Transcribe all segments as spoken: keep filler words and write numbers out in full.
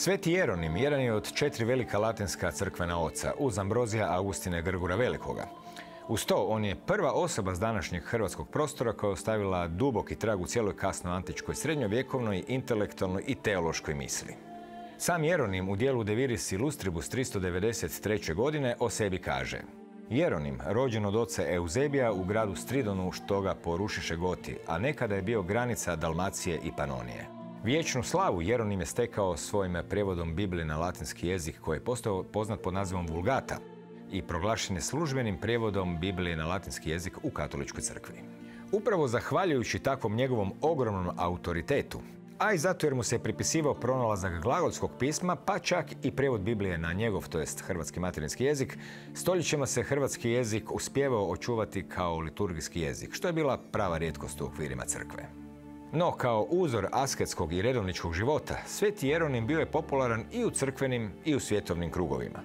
Sveti Jeronim jedan je od četiri velika latinska crkvena oca, uz Ambrozija Augustina i Grgura Velikoga. Uz to, on je prva osoba s današnjeg hrvatskog prostora koja je ostavila duboki trag u cijeloj kasnoantičkoj, srednjovjekovnoj, intelektualnoj i teološkoj misli. Sam Jeronim u dijelu De Viris Illustribus tristo devedeset treće. godine o sebi kaže: Jeronim, rođen od oca Euzebija u gradu Stridonu, što ga porušiše Goti, a nekada je bio granica Dalmacije i Panonije. Vječnu slavu Jeronim je stekao svojim prijevodom Biblije na latinski jezik, koji je postao poznat pod nazivom Vulgata i proglašen je službenim prijevodom Biblije na latinski jezik u katoličkoj crkvi. Upravo zahvaljujući takvom njegovom ogromnom autoritetu, a i zato jer mu se pripisivao pronalazak glagolskog pisma, pa čak i prijevod Biblije na njegov, to jest hrvatski materinski jezik, stoljećima se hrvatski jezik uspijevao očuvati kao liturgijski jezik, što je bila prava rijetkost u okvirima crkve. No, kao uzor asketskog i redovničkog života, Sveti Jeronim bio je popularan i u crkvenim i u svjetovnim krugovima.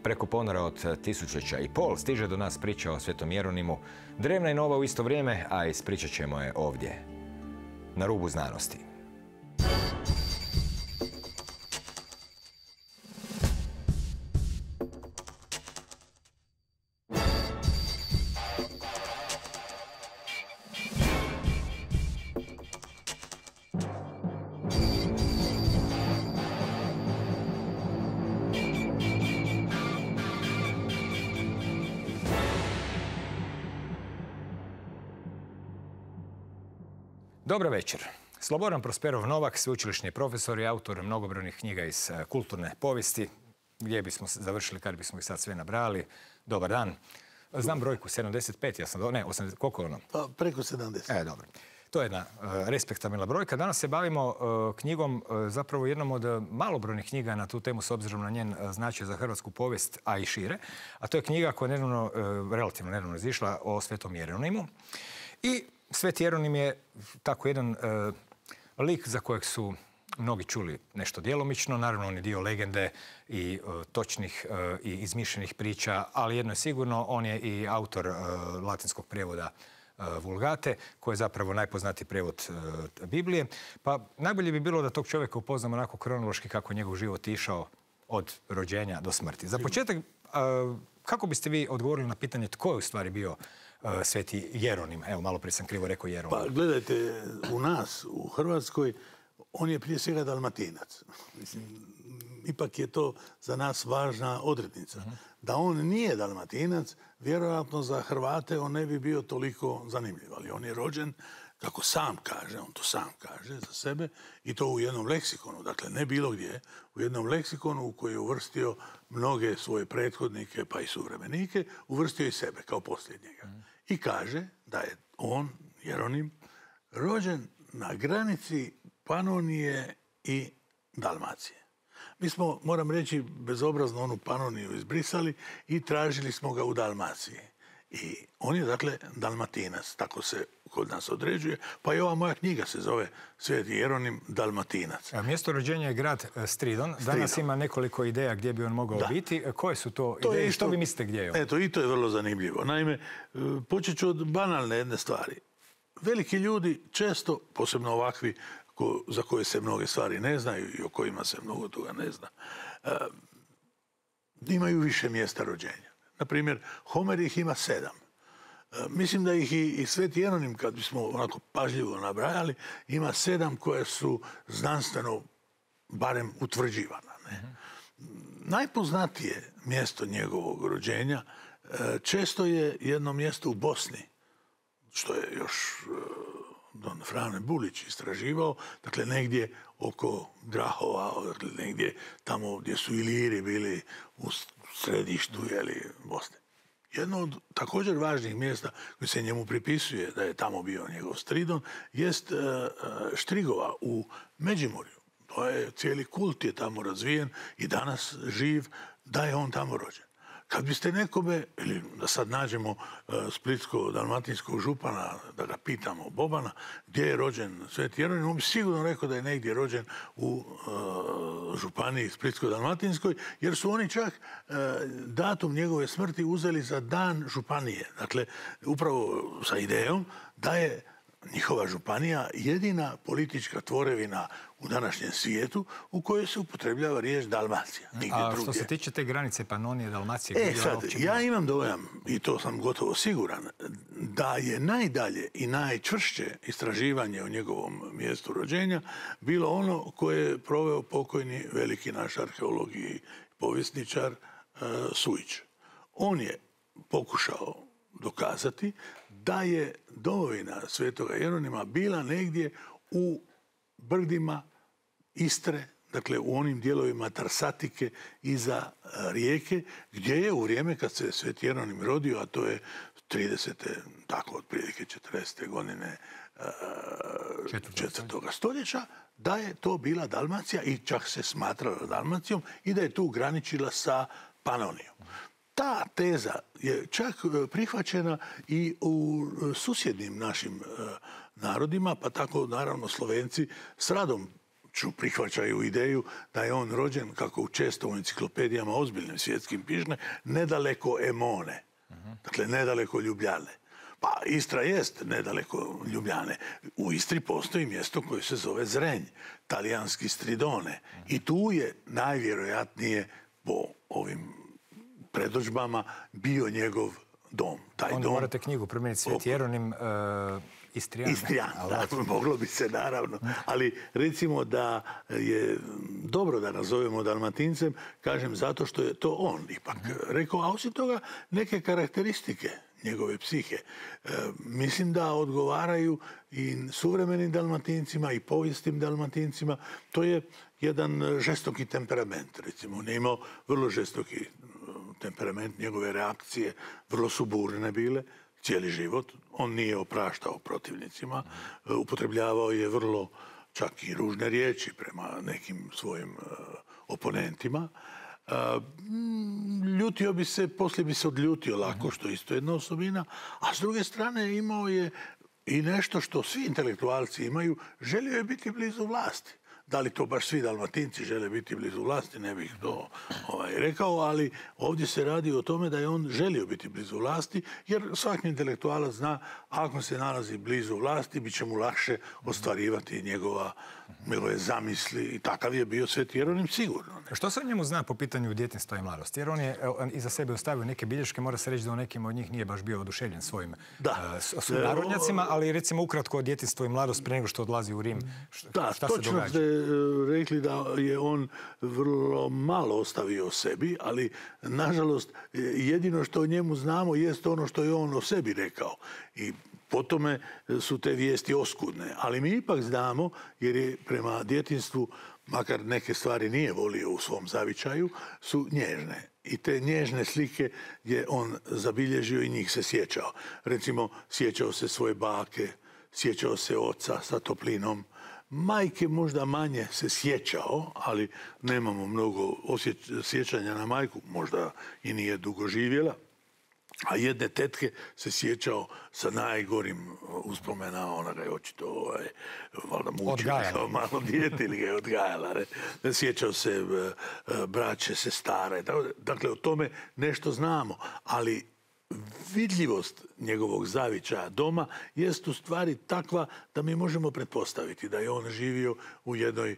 Preko ponora od tisućeća i pol stiže do nas priča o Svetom Jeronimu, drevna i nova u isto vrijeme, a ispričat ćemo je ovdje, na rubu znanosti. Dobro večer. Slobodan Prosperov Novak, sveučilišni profesor i autor mnogobrojnih knjiga iz kulturne povijesti. Gdje bismo završili kad bismo ih sad sve nabrali? Dobar dan. Znam brojku, sedamdeset pet, ja sam do... Ne, osamdeset, koliko je ono? Pa, preko sedamdeset. E, dobro. To je jedna uh, respektabilna brojka. Danas se bavimo uh, knjigom, uh, zapravo jednom od uh, malobrojnih knjiga na tu temu s obzirom na njen uh, značaj za hrvatsku povijest, a i šire. A to je knjiga koja je nedavno, uh, relativno nedavno izišla o Svetom Jeronimu. I Sveti Jeronim je tako jedan uh, lik za kojeg su mnogi čuli nešto djelomično. Naravno, on je dio legende i uh, točnih uh, i izmišljenih priča, ali jedno je sigurno, on je i autor uh, latinskog prijevoda uh, Vulgate, koji je zapravo najpoznatiji prijevod uh, Biblije. Pa najbolje bi bilo da tog čovjeka upoznamo onako kronološki kako je njegov život išao od rođenja do smrti. Za početak, uh, kako biste vi odgovorili na pitanje tko je u stvari bio Uh, Sveti Jeronim? Evo, malo prije sam krivo rekao Jeronim. Pa gledajte, u nas, u Hrvatskoj, on je prije svega Dalmatinac. Mislim, ipak je to za nas važna odrednica. Uh-huh. Da on nije Dalmatinac, vjerojatno za Hrvate on ne bi bio toliko zanimljiv. Ali on je rođen, kako sam kaže, on to sam kaže za sebe, i to u jednom leksikonu, dakle ne bilo gdje, u jednom leksikonu u koji je uvrstio mnoge svoje prethodnike, pa i suvremenike, uvrstio i sebe kao posljednjega. Mm. I kaže da je on, Jeronim, rođen na granici Panonije i Dalmacije. Mi smo, moram reći, bezobrazno onu Panoniju izbrisali i tražili smo ga u Dalmaciji. I on je, dakle, Dalmatinac, tako se kod nas određuje, pa i ova moja knjiga se zove Sveti Jeronim Dalmatinac. A mjesto rođenja je grad Stridon. Stridon. Danas ima nekoliko ideja gdje bi on mogao da. biti. Koje su to, to ideje i što vi mislite gdje je on? Eto, i to je vrlo zanimljivo. Naime, počet ću od banalne jedne stvari. Veliki ljudi često, posebno ovakvi ko, za koje se mnoge stvari ne znaju i o kojima se mnogo toga ne zna, uh, imaju više mjesta rođenja. Na primjer, Homer ih ima sedam. E, mislim da ih i, i Sveti Jeronim, kad bismo onako pažljivo nabrajali, ima sedam koje su znanstveno barem utvrđivana. Ne? Mm-hmm. Najpoznatije mjesto njegovog rođenja e, često je jedno mjesto u Bosni, što je još e, don Frane Bulić istraživao, dakle negdje oko Grahova, dakle negdje tamo gdje su Iliri bili u središtu, jeli, Bosne. Jedno od također važnih mjesta koji se njemu pripisuje da je tamo bio njegov Stridon, jest e, Štrigova u Međimurju. To je, cijeli kult je tamo razvijen i danas živ da je on tamo rođen. Kad biste nekome, ili da sad nađemo uh, splitsko-dalmatinskog župana, da ga pitamo, Bobana, gdje je rođen Sveti Jeronim, on bi sigurno rekao da je negdje rođen u uh, županiji splitsko-dalmatinskoj, jer su oni čak uh, datum njegove smrti uzeli za dan županije. Dakle, upravo sa idejom da je njihova županija jedina politička tvorevina u današnjem svijetu u kojoj se upotrebljava riječ Dalmacija. A što se tiče te granice Panonije, Dalmacije... E sad, ja imam dojam, i to sam gotovo siguran, da je najdalje i najčvršće istraživanje o njegovom mjestu rođenja bilo ono koje je proveo pokojni veliki naš arheolog i povjesničar Sujić. On je pokušao dokazati da je domovina Svetoga Jeronima bila negdje u brdima Istre, dakle u onim dijelovima Tarsatike iza rijeke, gdje je u vrijeme kad se Sveti Jeronim rodio, a to je tridesete, tako otprilike četrdesete godine četvrtoga stoljeća, da je to bila Dalmacija i čak se smatrala Dalmacijom i da je tu graničila sa Panonijom. Ta teza je čak prihvaćena i u susjednim našim narodima, pa tako naravno Slovenci s radom prihvaćaju ideju da je on rođen, kako često u enciklopedijama ozbiljnim svjetskim piše, nedaleko Emone, dakle nedaleko Ljubljane. Pa Istra jest nedaleko Ljubljane. U Istri postoji mjesto koje se zove Zrenj, talijanski Stridone. I tu je najvjerojatnije po ovim predodžbama bio njegov dom. Taj Onda dom, morate knjigu promijeniti Sveti Jeronim uh, Istrijan. Istrijan, da, moglo bi se naravno. Ali recimo da je dobro da nazovemo Dalmatincem, kažem zato što je to on ipak rekao, a osim toga neke karakteristike njegove psihe. E, mislim da odgovaraju i suvremenim Dalmatincima i povijestim Dalmatincima. To je jedan žestoki temperament, recimo. On je imao vrlo žestoki temperament, njegove reakcije vrlo su burne bile, cijeli život. On nije opraštao protivnicima, upotrebljavao je vrlo čak i ružne riječi prema nekim svojim uh, oponentima. Uh, ljutio bi se, poslije bi se odljutio lako, što je isto jedna osobina, a s druge strane imao je i nešto što svi intelektualci imaju, želio je biti blizu vlasti. Da li to baš svi Dalmatinci žele biti blizu vlasti, ne bih to ovaj, rekao, ali ovdje se radi o tome da je on želio biti blizu vlasti, jer svaki intelektualac zna, ako se nalazi blizu vlasti, bit će mu lakše ostvarivati njegova, njegove zamisli i takav je bio Sveti Jeronim sigurno. Ne? Što se o njemu zna po pitanju djetinjstva i mladosti? Jer on je iza sebe ostavio neke bilješke, mora se reći da u nekim od njih nije baš bio oduševljen svojim uh, sunarodnjacima, ali recimo ukratko o djetinjstvu i mladost prije nego što odlazi u Rim. Šta, da, šta se događa? Ste rekli da je on vrlo malo ostavio o sebi, ali nažalost jedino što o njemu znamo jest ono što je on o sebi rekao. I po tome su te vijesti oskudne. Ali mi ipak znamo, jer je prema djetinjstvu, makar neke stvari nije volio u svom zavičaju, su nježne. I te nježne slike je on zabilježio i njih se sjećao. Recimo, sjećao se svoje bake, sjećao se oca sa toplinom. Majke možda manje se sjećao, ali nemamo mnogo sjećanja na majku, možda i nije dugo živjela. A jedne tetke se sjećao sa najgorim uspomena, ona ga je očito ovaj, valjda mučila kao malo dijete ili ga je odgajala. Ne? Sjećao se braće, sestare. Dakle, o tome nešto znamo, ali vidljivost njegovog zavičaja doma jest u stvari takva da mi možemo pretpostaviti da je on živio u jednoj e,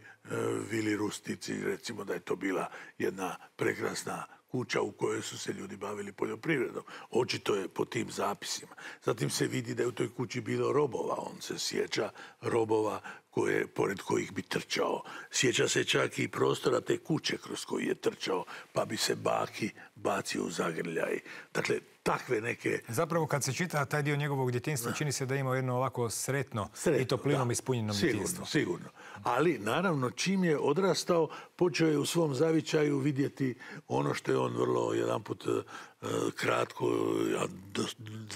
vili rustici, recimo da je to bila jedna prekrasna kuća u kojoj su se ljudi bavili poljoprivredom. Očito je po tim zapisima. Zatim se vidi da je u toj kući bilo robova. On se sjeća robova koje, pored kojih bi trčao. Sjeća se čak i prostora te kuće kroz koju je trčao, pa bi se baki bacio u zagrljaj. Dakle, takve neke... Zapravo, kad se čita taj dio njegovog djetinjstva, čini se da ima jedno ovako sretno, sretno i toplinom da, ispunjeno djetinjstvo. Sigurno, sigurno. Ali, naravno, čim je odrastao, počeo je u svom zavičaju vidjeti ono što je on vrlo jedanput uh, kratko, a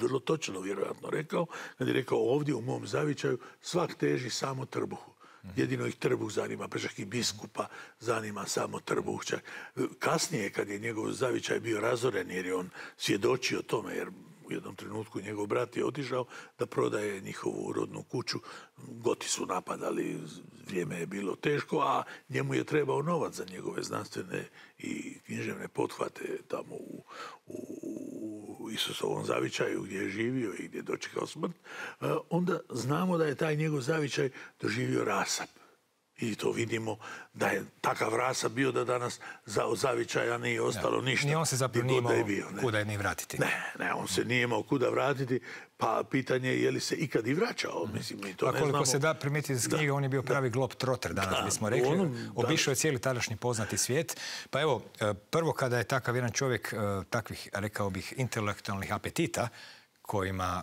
vrlo točno vjerojatno rekao, kad je rekao ovdje u mom zavičaju svak teži samo trbuhu. Jedino ih trbuh zanima, pa čak i biskupa zanima samo trbuh. Čak. Kasnije, kad je njegov zavičaj bio razoren, jer je on svjedočio tome, jer u jednom trenutku njegov brat je otišao da prodaje njihovu rodnu kuću. Goti su napadali, vrijeme je bilo teško, a njemu je trebao novac za njegove znanstvene i književne pothvate tamo u, u u Isusovom zavičaju gdje je živio i gdje je dočekao smrt, onda znamo da je taj njegov zavičaj doživio rasap. I to vidimo da je takav rasap bio da danas od zavičaja nije ostalo ništa. Ni on se zapravo nije imao kuda je ni vratiti. Ne, ne, on se nije imao kuda vratiti, pa pitanje je je li se ikad i vraćao. Mislim, mi to ne znamo. Koliko se da primijetiti iz knjiga, on je bio pravi globetrotter, danas bismo rekli. Obišao je cijeli tadašnji poznati svijet. Pa evo, prvo kada je takav jedan čovjek takvih, rekao bih, intelektualnih apetita, Kojima,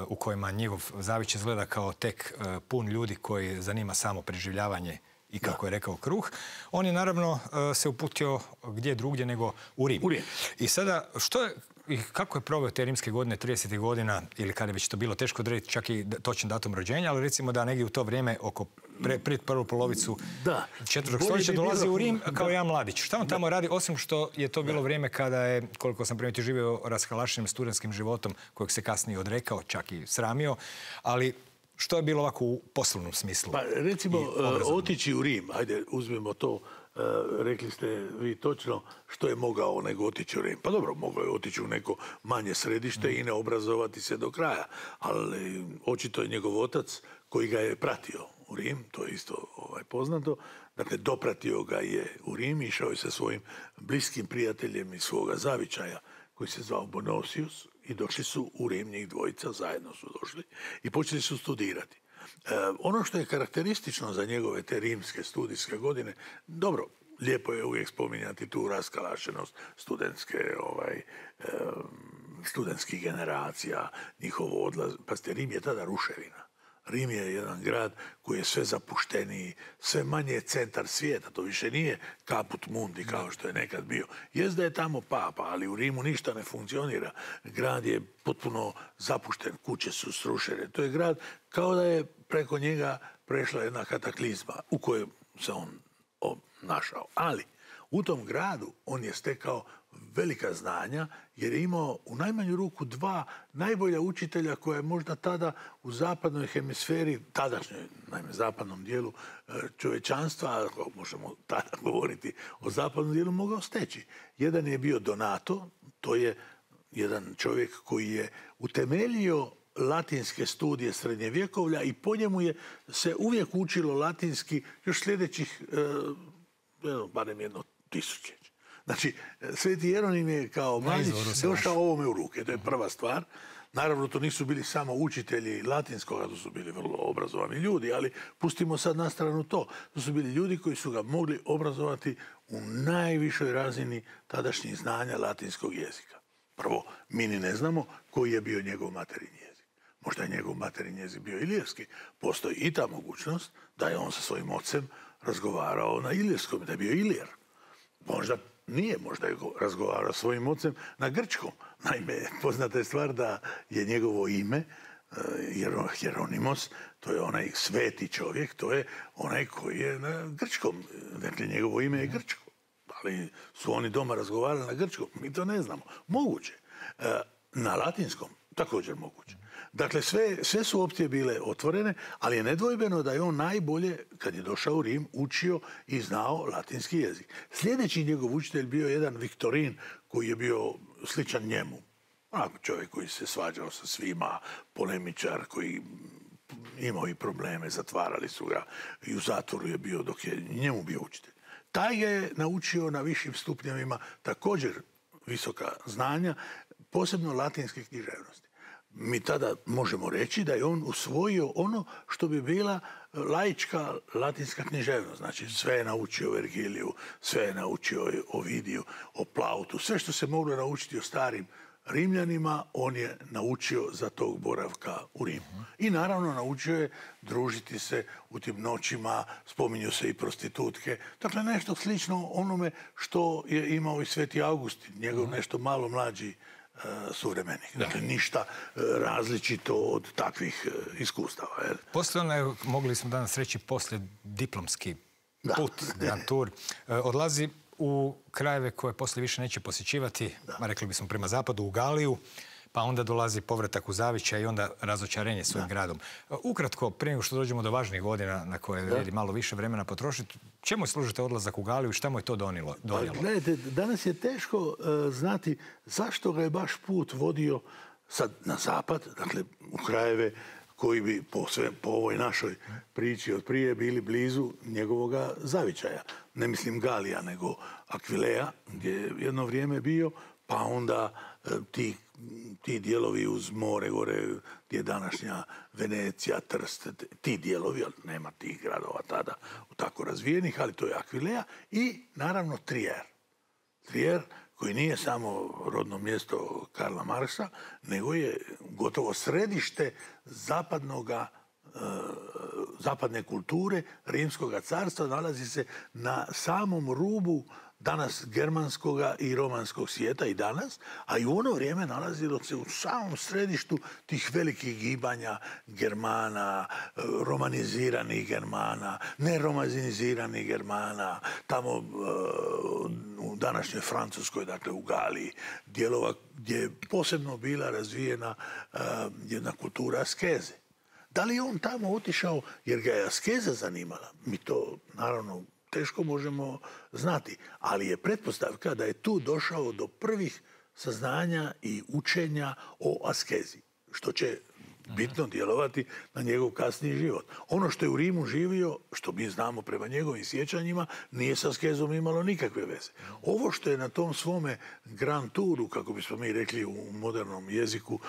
u kojima njegov zavić izgleda kao tek pun ljudi koji zanima samo preživljavanje i, kako je rekao, kruh. On je naravno se uputio gdje drugdje nego u Rim. U Rim. I sada, što je, i kako je proveo te rimske godine, tridesetih godina, ili kada je već to bilo teško odrediti čak i točan datum rođenja, ali recimo da negdje u to vrijeme, oko pre, pred prvu polovicu četvrtog stoljeća, dolazi u Rim kao jedan mladić. Šta on tamo radi, osim što je to bilo vrijeme kada je, koliko sam primijetio, živio raskalašenim studentskim životom, kojeg se kasnije odrekao, čak i sramio, ali što je bilo ovako u poslovnom smislu? Pa recimo, otići u Rim, ajde, uzmemo to, rekli ste vi točno što je mogao nego otići u Rim. Pa dobro, mogao je otići u neko manje središte i ne obrazovati se do kraja, ali očito je njegov otac koji ga je pratio u Rim, to je isto ovaj, poznato. Dakle, dopratio ga je u Rim, išao je sa svojim bliskim prijateljem iz svoga zavičaja, koji se zvao Bonosius, i došli su u Rim, njih dvojica, zajedno su došli i počeli su studirati. E, ono što je karakteristično za njegove te rimske studijske godine, dobro, lijepo je uvijek spominjati tu raskalašenost studentske, ovaj, e, studentskih generacija, njihovo odlaz. Pazite, Rim je tada ruševina. Rim je jedan grad koji je sve zapušteniji, sve manje je centar svijeta. To više nije caput mundi kao što je nekad bio. Jest da je tamo papa, ali u Rimu ništa ne funkcionira. Grad je potpuno zapušten, kuće su srušene. To je grad kao da je preko njega prešla jedna kataklizma u kojoj se on, on našao. Ali u tom gradu on je stekao velika znanja jer je imao u najmanju ruku dva najbolja učitelja koja je možda tada u zapadnoj hemisferi, tadašnjoj, naime, zapadnom dijelu čovječanstva, ako možemo tada govoriti o zapadnom dijelu, mogao steći. Jedan je bio Donato, to je jedan čovjek koji je utemeljio latinske studije srednjevjekovlja i po njemu je se uvijek učilo latinski još sljedećih, eh, barem jedno tisuće. Znači, Sveti Jeronim je kao mladić došao ovome u ruke. To je prva stvar. Naravno, to nisu bili samo učitelji latinskoga, to su bili vrlo obrazovani ljudi, ali pustimo sad na stranu to. To su bili ljudi koji su ga mogli obrazovati u najvišoj razini tadašnjih znanja latinskog jezika. Prvo, mi ni ne znamo koji je bio njegov materinji jezik. Možda je njegov materinji jezik bio ilirski. Postoji i ta mogućnost da je on sa svojim ocem razgovarao na ilirskom, da je bio Ilir. Možda nije, možda je razgovarao svojim ocem na grčkom. Naime, poznata je stvar da je njegovo ime, Hieronimos, to je onaj sveti čovjek, to je onaj koji je na grčkom. Dakle, njegovo ime je grčko. Ali su oni doma razgovarali na grčkom. Mi to ne znamo. Moguće. Na latinskom također moguće. Dakle, sve, sve su opcije bile otvorene, ali je nedvojbeno da je on najbolje, kad je došao u Rim, učio i znao latinski jezik. Sljedeći njegov učitelj bio jedan Viktorin, koji je bio sličan njemu. Onako čovjek koji se svađao sa svima, polemičar koji imao i probleme, zatvarali su ga i u zatvoru je bio dok je njemu bio učitelj. Taj je naučio na višim stupnjevima također visoka znanja, posebno latinske književnosti. Mi tada možemo reći da je on usvojio ono što bi bila laička latinska književnost. Znači, sve je naučio o Vergiliju, sve je naučio o Ovidiju, o Plautu, sve što se moglo naučiti o starim Rimljanima, on je naučio za tog boravka u Rimu. I naravno naučio je družiti se u tim noćima, spominju se i prostitutke. Dakle, nešto slično onome što je imao i Sveti Augustin, njegov nešto malo mlađi suvremenih. Dakle, ništa različito od takvih iskustava. Poslije onaj, mogli smo danas reći, poslije diplomski put, Grand Tour, odlazi u krajeve koje poslije više neće posjećivati, rekli bismo prema zapadu, u Galiju, pa onda dolazi povratak u zavičaj i onda razočarenje svojim gradom. Ukratko, prije nego što dođemo do važnih godina na koje vrijedi malo više vremena potrošiti, čemu služite odlazak u Galiju i šta mu je to donijelo? Pa, gledajte, danas je teško uh, znati zašto ga je baš put vodio sad na zapad, dakle u krajeve koji bi po, sve, po ovoj našoj priči od prije bili blizu njegovoga zavičaja. Ne mislim Galija, nego Akvileja, gdje je jedno vrijeme bio, pa onda e, ti, ti dijelovi uz more, gore gdje je današnja Venecija, Trst, ti dijelovi, ali nema tih gradova tada tako razvijenih, ali to je Akvileja i naravno Trier. Trier koji nije samo rodno mjesto Karla Marksa, nego je gotovo središte zapadnoga, e, zapadne kulture, Rimskog carstva, nalazi se na samom rubu danas germanskoga i romanskog svijeta i danas, a i u ono vrijeme nalazilo se u samom središtu tih velikih gibanja Germana, romaniziranih Germana, neromaniziranih Germana, tamo u današnjoj Francuskoj, dakle u Galiji, dijelova gdje je posebno bila razvijena jedna kultura askeze. Da li je on tamo otišao jer ga je askeza zanimala? Mi to, naravno, teško možemo znati, ali je pretpostavka da je tu došao do prvih saznanja i učenja o askezi, što će bitno djelovati na njegov kasniji život. Ono što je u Rimu živio, što mi znamo prema njegovim sjećanjima, nije s askezom imalo nikakve veze. Ovo što je na tom svome grand touru, kako bismo mi rekli u modernom jeziku,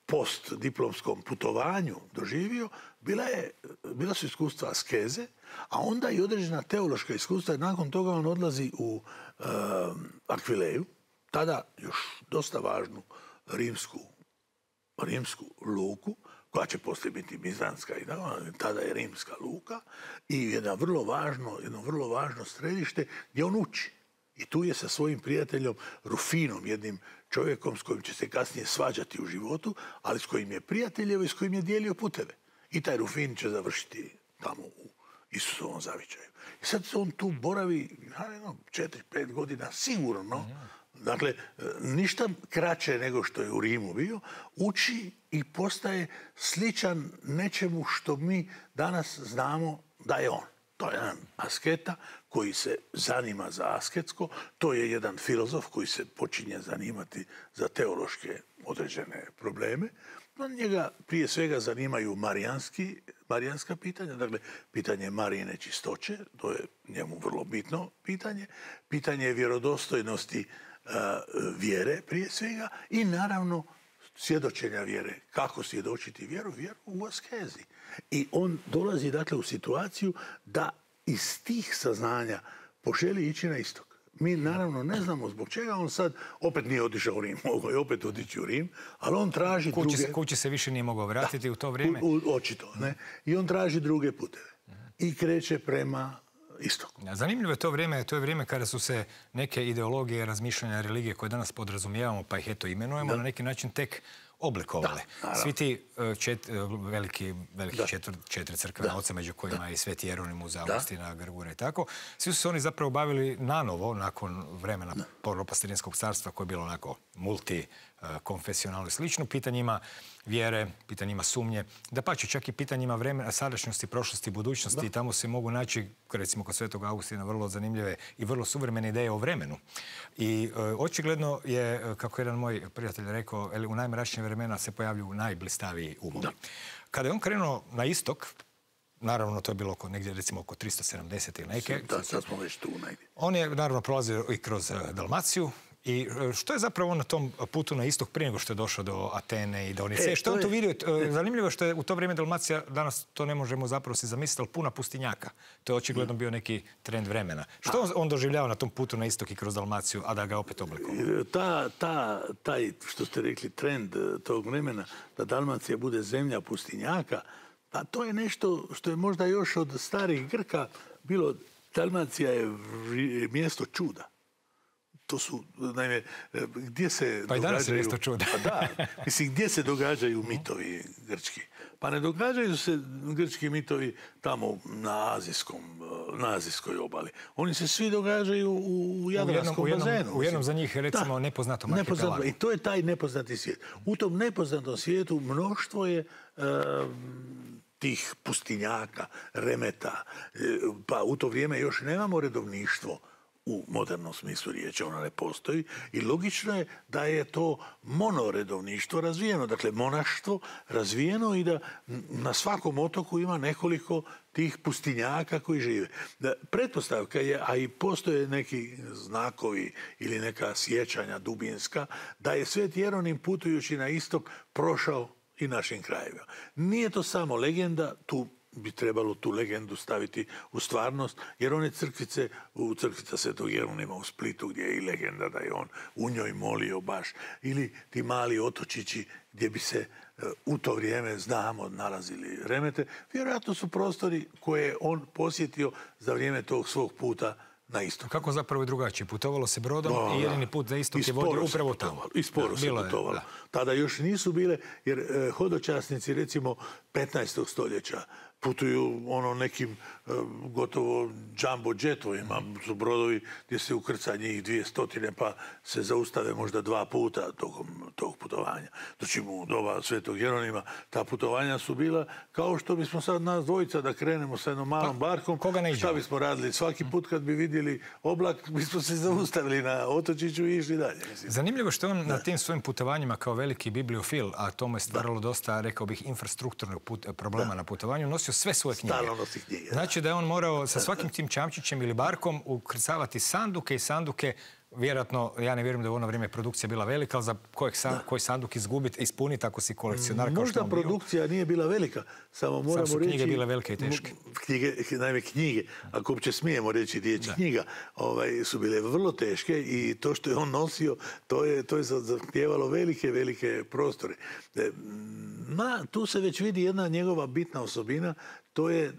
postdiplomskom putovanju doživio, bila, je, bila su iskustva askeze, a onda i određena teološka iskustva. Nakon toga on odlazi u e, Akvileju, tada još dosta važnu rimsku, rimsku luku, koja će poslije biti bizantska i tada je rimska luka, i jedno vrlo važno, jedno vrlo važno središte gdje on uči. I tu je sa svojim prijateljom Rufinom, jednim čovjekom s kojim će se kasnije svađati u životu, ali s kojim je prijateljevo i s kojim je dijelio puteve. I taj Rufin će završiti tamo u Isusovom zavičaju. I sad on tu boravi no, četiri, pet godina sigurno. Dakle, ništa kraće nego što je u Rimu bio. Uči i postaje sličan nečemu što mi danas znamo da je on. To je jedan asketa koji se zanima za asketsko, to je jedan filozof koji se počinje zanimati za teološke određene probleme. No, njega prije svega zanimaju marijanski, marijanska pitanja, dakle pitanje Marijine čistoće, to je njemu vrlo bitno pitanje, pitanje vjerodostojnosti uh, vjere prije svega i naravno svjedočenja vjere. Kako svjedočiti vjeru? Vjeru u askezi. I on dolazi dakle u situaciju da iz tih saznanja poželi ići na istok. Mi naravno ne znamo zbog čega on sad opet nije otišao u Rim. Mogao je opet otići u Rim, ali on traži kući druge... Se, kući se više nije mogao vratiti da, u to vrijeme? U, u, očito, ne. I on traži druge puteve. I kreće prema istoku. Zanimljivo je to vrijeme, to je vrijeme kada su se neke ideologije, razmišljanja, religije koje danas podrazumijevamo, pa ih eto imenujemo, da. na neki način tek oblikovale. Da, svi ti čet, veliki, veliki četvr, četiri crkvena oca, među kojima da. i Sveti Jeronimuz, Augustina, Grgura i tako, svi su se oni zapravo bavili nanovo, nakon vremena Propasterinskog carstva, koje je bilo onako multikonfesionalno i slično, pitanjima vjere, pitanjima sumnje, da pače čak i pitanjima vremena, sadašnjosti, prošlosti, budućnosti. I tamo se mogu naći, recimo kod Svetog Augustina, vrlo zanimljive i vrlo suvremene ideje o vremenu. I e, očigledno je, kako jedan moj prijatelj rekao, u najmračnije vremena se pojavljuju najblistaviji umovi. Kada je on krenuo na istok, naravno to je bilo oko, negdje recimo oko tristo sedamdeset ili neke. Da, sad smo već tu negdje. On je naravno prolazio i kroz Dalmaciju. I što je zapravo on na tom putu na istok prije nego što je došao do Atene i do Onice? E, što je on to vidio? Zanimljivo je što je u to vrijeme Dalmacija, danas to ne možemo zapravo si zamisliti, ali puna pustinjaka. To je očigledno bio neki trend vremena. Što on, on doživljava na tom putu na istok i kroz Dalmaciju, a da ga opet oblikovao? Ta, ta, taj, što ste rekli, trend tog vremena, da Dalmacija bude zemlja pustinjaka, pa to je nešto što je možda još od starih Grka bilo. Dalmacija je mjesto čuda. to su, naime, gdje se pa i danas događaju... je nešto čudo. Pa da, mislim, gdje se događaju mitovi grčki? Pa ne događaju se grčki mitovi tamo na azijskom, na azijskoj obali. Oni se svi događaju u Jadranskom u jednom, bazenu. U jednom za njih, recimo, da, nepoznatom arhipelagu. I to je taj nepoznati svijet. U tom nepoznatom svijetu mnoštvo je uh, tih pustinjaka, remeta. Pa u to vrijeme još nemamo redovništvo u modernom smislu riječi, ona ne postoji i logično je da je to monoredovništvo razvijeno, dakle monaštvo razvijeno i da na svakom otoku ima nekoliko tih pustinjaka koji žive. Da, pretpostavka je, a i postoje neki znakovi ili neka sjećanja dubinska, da je Sveti Jeronim putujući na istok prošao i našim krajevima. Nije to samo legenda, tu bi trebalo tu legendu staviti u stvarnost, jer one crkvice, u crkvica Svetog Jeronima u Splitu, gdje je i legenda da je on u njoj molio baš, ili ti mali otočići gdje bi se u to vrijeme, znamo, nalazili remete, vjerojatno su prostori koje je on posjetio za vrijeme tog svog puta na istok. Kako zapravo i drugačije? Putovalo se brodom no, i jedini put za istok je vodio upravo tamo. I sporo se putovalo. Je, tada još nisu bile, jer eh, hodočasnici, recimo, petnaestog stoljeća putuju ono nekim e, gotovo jumbo jetovima, su brodovi gdje se ukrca njih dvije stotine pa se zaustave možda dva puta tokom tog putovanja. Znači u doba Svetog Jeronima ta putovanja su bila kao što bismo sad nas dvojica da krenemo sa jednom malom pa, barkom. Koga ne šta bismo radili? Svaki put kad bi vidjeli oblak bismo se zaustavili na otočiću i išli dalje. Mislim. Zanimljivo što on da. na tim svojim putovanjima kao veliki bibliofil, a tomu je stvaralo da. dosta, rekao bih, infrastrukturnog put, problema da. na putovanju, nosio sve svoje knjige. Stalno nosi knjige. Znači da je on morao sa svakim tim čamčićem ili barkom ukrcavati sanduke i sanduke. Vjerojatno, ja ne vjerujem da je u ono vrijeme produkcija bila velika, ali za kojeg san, koji sanduk izgubiti, ispuniti ako si kolekcionar. Možda produkcija nije bila velika, samo moramo reći... Samo su knjige reći, bile velike i teške. Knjige, naime knjige, ako uopće smijemo reći riječ da. knjiga, ovaj, su bile vrlo teške i to što je on nosio, to je, to je zahtijevalo velike, velike prostore. Ma, tu se već vidi jedna njegova bitna osobina, to je,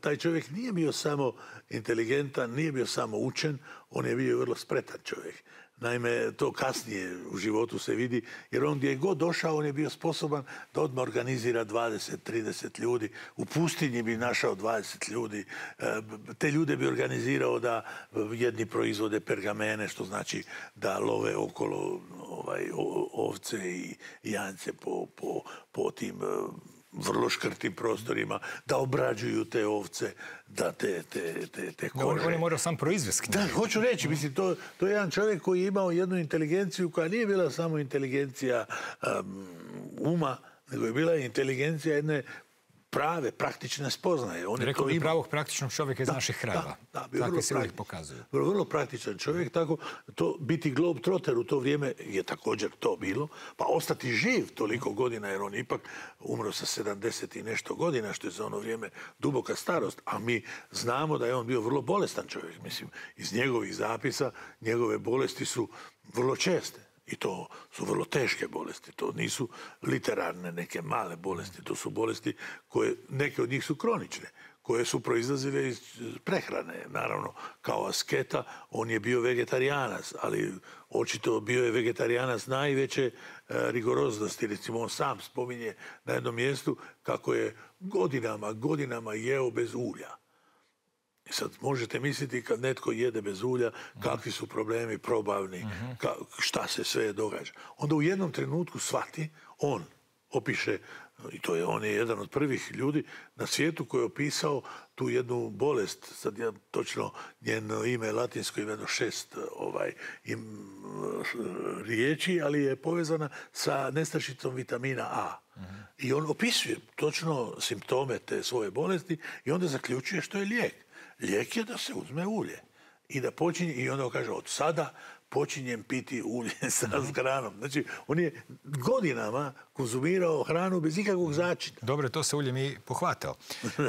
taj čovjek nije bio samo inteligentan, nije bio samo učen, on je bio vrlo spretan čovjek. Naime, to kasnije u životu se vidi, jer on gdje je god došao, on je bio sposoban da odmah organizira dvadeset trideset ljudi. U pustinji bi našao dvadeset ljudi. Te ljude bi organizirao da jedni proizvode pergamene, što znači da love okolo ovaj, ovce i janjce po, po, po tim vrlo škrtim prostorima, da obrađuju te ovce, da te, te, te, te kože. On je morao sam proizvesti. Da, hoću reći, mislim, to, to je jedan čovjek koji je imao jednu inteligenciju koja nije bila samo inteligencija um, uma, nego je bila inteligencija jedne prave, praktične spoznaje. On Rekao bi pravog praktičnog čovjeka iz da, naših krajeva. Da, da, Takvi se uvijek pokazuju. Vrlo, vrlo praktičan čovjek, tako to biti globetrotter u to vrijeme je također to bilo, pa ostati živ toliko godina, jer on ipak umro sa sedamdeset i nešto godina, što je za ono vrijeme duboka starost, a mi znamo da je on bio vrlo bolestan čovjek. Mislim, iz njegovih zapisa, njegove bolesti su vrlo česte. I to su vrlo teške bolesti. To nisu literarne neke male bolesti. To su bolesti koje, neke od njih su kronične, koje su proizlazile iz prehrane. Naravno, kao asketa, on je bio vegetarijanac, ali očito bio je vegetarijanac najveće e, rigoroznosti. Recimo, on sam spominje na jednom mjestu kako je godinama, godinama jeo bez ulja. I sad možete misliti kad netko jede bez ulja, kakvi su problemi probavni, ka, šta se sve događa. Onda u jednom trenutku shvati, on opiše, i to je, on je jedan od prvih ljudi na svijetu koji je opisao tu jednu bolest, sad ja točno njeno ime latinsko ima šest ovaj, im, riječi, ali je povezana sa nestašicom vitamina A. Uh-huh. I on opisuje točno simptome te svoje bolesti i onda zaključuje što je lijek. Lijek je da se uzme ulje i da počinje, i onda kaže od sada počinjem piti ulje sa hranom. Znači, on je godinama konzumirao hranu bez ikakvog začina. Dobro, to se ulje mi pohvatao.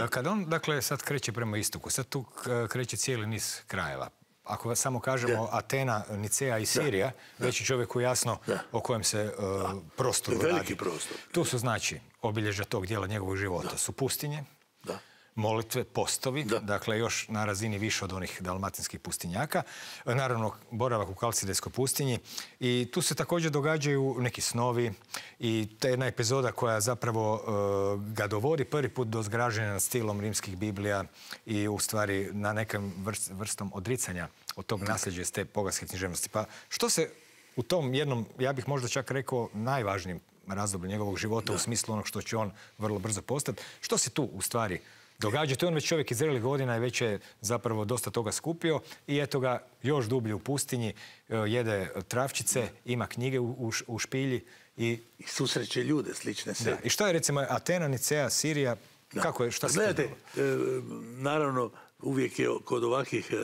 Kad on, dakle, sad kreće prema istoku, sad tu kreće cijeli niz krajeva. Ako samo kažemo da. Atena, Nicea i Sirija, da. Već je čovjeku jasno da. O kojem se uh, prostoru radi. Veliki prostor. Tu su, znači, obilježja tog dijela njegovog života. Da. Su pustinje, da. molitve, postovi, Da. dakle još na razini više od onih dalmatinskih pustinjaka. Naravno, boravak u Kalcidejskoj pustinji. I tu se također događaju neki snovi i to je jedna epizoda koja zapravo uh, ga dovodi prvi put do zgraženja nad stilom rimskih Biblija i u stvari na nekom vrst, vrstom odricanja od tog nasljeđa iz te poganske književnosti. Pa što se u tom jednom, ja bih možda čak rekao, najvažnijem razdoblju njegovog života, da, u smislu onog što će on vrlo brzo postati, što se tu u stvari događa? To je on već čovjek iz zrelih godina i već je zapravo dosta toga skupio i eto ga još dublje u pustinji, jede travčice, ima knjige u, u, u špilji i... I susreće ljude slične sebi. I što je recimo Atena, Nicea, Sirija, da, kako je, šta se... Gledajte, e, naravno uvijek je kod ovakvih e,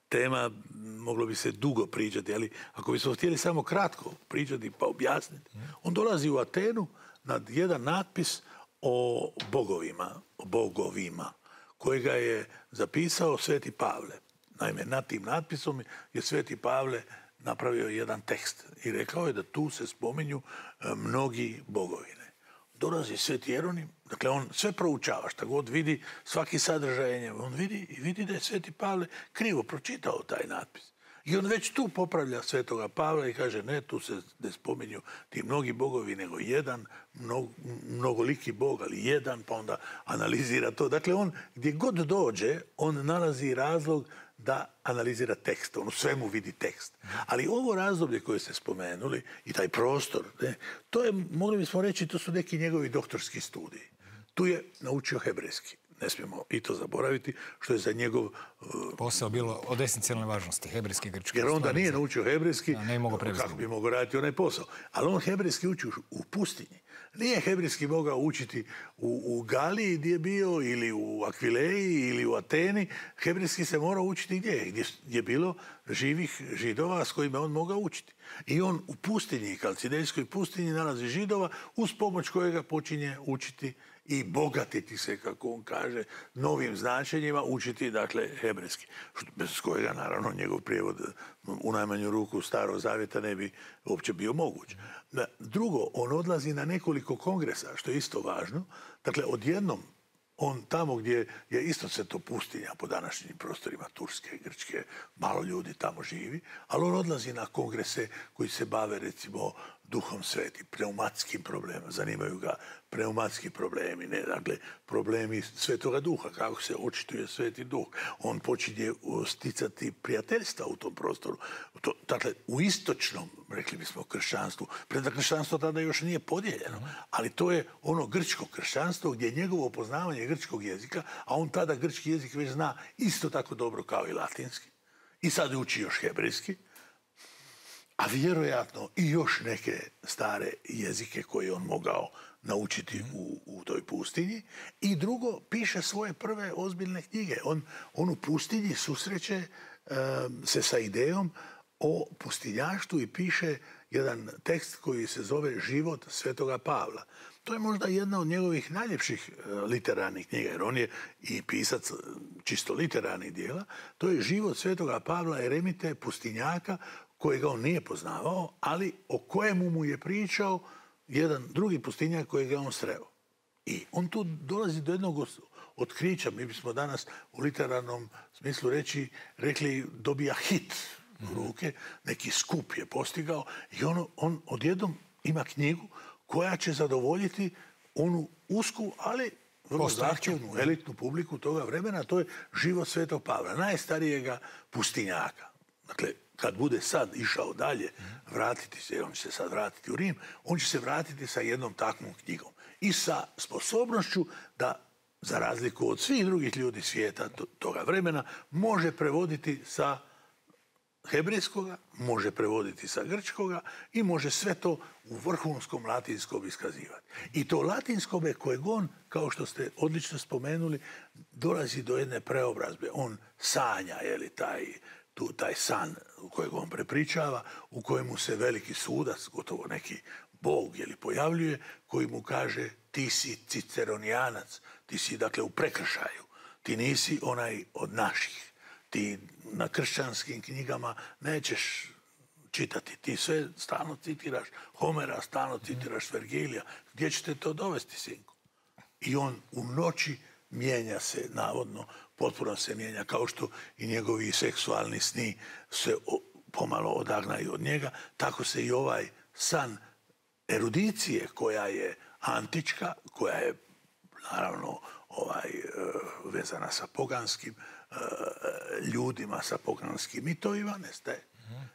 tema moglo bi se dugo pričati, ali ako bismo htjeli samo kratko pričati pa objasniti, on dolazi u Atenu nad jedan natpis o bogovima, o bogovima, kojega je zapisao Sveti Pavle. Naime, nad tim natpisom je Sveti Pavle napravio jedan tekst i rekao je da tu se spominju mnogi bogovine. Dolazi Sveti Jeronim, dakle on sve proučava, šta god vidi, svaki sadržaj, on vidi i vidi da je Sveti Pavle krivo pročitao taj natpis. I on već tu popravlja Svetoga Pavla i kaže ne, tu se ne spominju ti mnogi bogovi, nego jedan, mnog, mnogoliki bog, ali jedan, pa onda analizira to. Dakle, on gdje god dođe, on nalazi razlog da analizira tekst. On u svemu vidi tekst. Ali ovo razdoblje koje ste spomenuli i taj prostor, ne, to je, mogli bismo reći, to su neki njegovi doktorski studiji. Tu je naučio hebrejski. Ne smijemo i to zaboraviti, što je za njegov... Uh, posao bilo od esencijalne važnosti, hebrejski i grčki. Jer onda nije naučio hebrejski, ne mogu prevesti. Kako bi mogao raditi onaj posao. Ali on hebrejski uči u pustinji. Nije hebrejski mogao učiti u, u Galiji gdje je bio, ili u Akvileji, ili u Ateni. Hebrejski se morao učiti gdje? Gdje je bilo živih Židova s kojima on mogao učiti. I on u pustinji, Kalcidejskoj pustinji, nalazi Židova uz pomoć kojega počinje učiti i bogatiti se, kako on kaže, novim značenjima, učiti, dakle, hebrejski. Bez kojega, naravno, njegov prijevod u najmanju ruku Starog Zavjeta ne bi uopće bio moguć. Drugo, on odlazi na nekoliko kongresa, što je isto važno. Dakle, odjednom, on tamo gdje je isto se to pustinja po današnjim prostorima Turske, Grčke, malo ljudi tamo živi, ali on odlazi na kongrese koji se bave, recimo, Duhom Svetim, pneumatskim problemima. Zanimaju ga pneumatski problemi, ne, dakle, problemi Svetoga Duha, kako se očituje Sveti Duh. On počinje sticati prijateljstva u tom prostoru. To, dakle, u istočnom, rekli bismo, kršćanstvu, preda kršćanstvo tada još nije podijeljeno, ali to je ono grčko kršćanstvo gdje je njegovo poznavanje grčkog jezika, a on tada grčki jezik već zna isto tako dobro kao i latinski. I sad uči još hebrejski, a vjerojatno i još neke stare jezike koje on mogao naučiti u, u toj pustinji. I drugo, piše svoje prve ozbiljne knjige. On, on u pustinji susreće um, se sa idejom o pustinjaštvu i piše jedan tekst koji se zove Život Svetoga Pavla. To je možda jedna od njegovih najljepših uh, literarnih knjiga, jer on je i pisac čisto literarnih dijela. To je Život Svetoga Pavla Eremite, pustinjaka, kojega on nije poznavao, ali o kojemu mu je pričao jedan drugi pustinjak kojega on sreo. I on tu dolazi do jednog otkrića. Mi bismo danas u literarnom smislu reći, rekli dobija hit u ruke, neki skup je postigao i on, on odjednom ima knjigu koja će zadovoljiti onu usku, ali vrlo zahtjevnu, elitnu publiku toga vremena. To je Život Svetog Pavla, najstarijega pustinjaka. Dakle, kad bude sad išao dalje, vratiti se, jer on će se sad vratiti u Rim, on će se vratiti sa jednom takvom knjigom. I sa sposobnošću da, za razliku od svih drugih ljudi svijeta toga vremena, može prevoditi sa hebrejskoga, može prevoditi sa grčkoga i može sve to u vrhunskom latinskom iskazivati. I to latinskome kojeg on, kao što ste odlično spomenuli, dolazi do jedne preobrazbe. On sanja, je li, taj... Tu, taj san kojeg on prepričava, u kojemu se veliki sudac, gotovo neki bog, je li, pojavljuje, koji mu kaže ti si ciceronijanac, ti si, dakle, u prekršaju, ti nisi onaj od naših, ti na kršćanskim knjigama nećeš čitati, ti sve stalno citiraš Homera, stalno citiraš Vergilija, gdje ćete to dovesti, sinku? I on u noći mijenja se, navodno, potpuno se mijenja, kao što i njegovi seksualni sni se pomalo odagnaju od njega, tako se i ovaj san erudicije koja je antička, koja je naravno ovaj, vezana sa poganskim ljudima, sa poganskim mitovima, nestaje.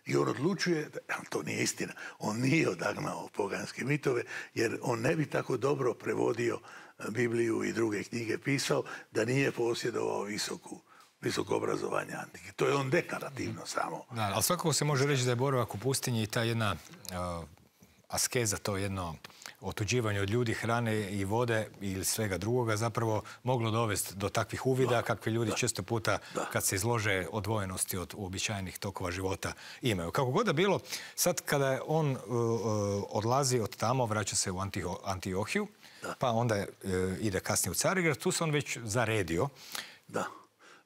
I on odlučuje, ali to nije istina, on nije odagnao poganske mitove, jer on ne bi tako dobro prevodio Bibliju i druge knjige pisao da nije posjedovao visoku visoko obrazovanje antike. To je on deklarativno samo. Da, ali svakako se može reći da je boravak u pustinji i ta jedna uh, askeza, to jedno otuđivanje od ljudi, hrane i vode ili svega drugoga zapravo moglo dovesti do takvih uvida da, kakve ljudi da, često puta da. kad se izlože odvojenosti od uobičajenih tokova života imaju. Kako god da bilo, sad kada on uh, odlazi od tamo, vraća se u Antiho, Antiohiju, da. pa onda uh, ide kasnije u Carigrad, tu se on već zaredio. Da.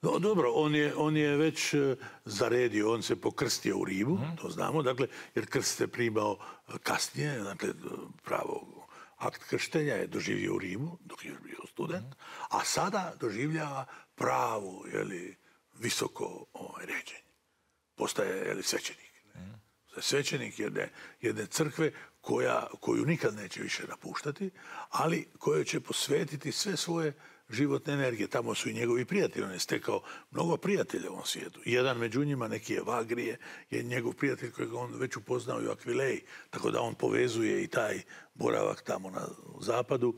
No, dobro, on je, on je već uh, zaredio, on se pokrstio u Rimu, mm. to znamo, dakle, jer krst se primao kasnije, dakle, pravo akt krštenja je doživio u Rimu, dok je bio student, mm. a sada doživljava pravu, jeli, visoko ovaj, ređenje. Postaje, jeli, svećenik. Mm. Svećenik jedne, jedne crkve koja, koju nikad neće više napuštati, ali kojoj će posvetiti sve svoje životne energije. Tamo su i njegovi prijatelji. On je stekao mnogo prijatelja u ovom svijetu. Jedan među njima, neki je Vagrije, je njegov prijatelj kojeg on već upoznao i u Akvileji. Tako da on povezuje i taj boravak tamo na zapadu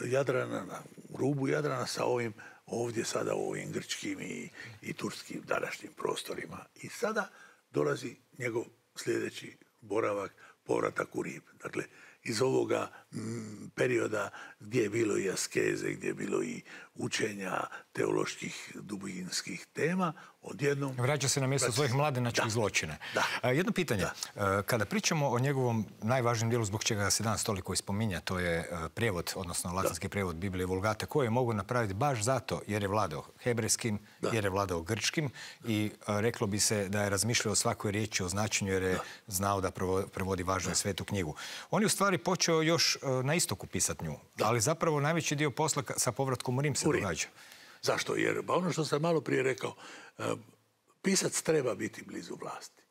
Jadrana, na rubu Jadrana sa ovim ovdje sada u ovim grčkim i, i turskim današnjim prostorima. I sada dolazi njegov sljedeći boravak, povratak u Rim. Dakle, iz ovoga m, perioda gdje je bilo i askeze, gdje je bilo i učenja teoloških dubinskih tema, odjednom... Vraća se na mjesto vraća... svojih mladenačkih zločina. Da. Jedno pitanje. Da. Kada pričamo o njegovom najvažnijem dijelu zbog čega se danas toliko ispominja, to je prijevod, odnosno latinski da. prijevod Biblije Vulgate, koje je mogu napraviti baš zato jer je vladao hebrejskim, da. jer je vladao grčkim i reklo bi se da je razmišljao o svakoj riječi, o značenju jer je da. znao da prevodi važnu i svetu knjigu. On je u stvari počeo još na istoku pisati nju, da. ali zapravo najveći dio posla sa povratkom u Rim se događa. Zašto? Jer ba ono što sam malo prije rekao, pisac treba biti blizu vlasti.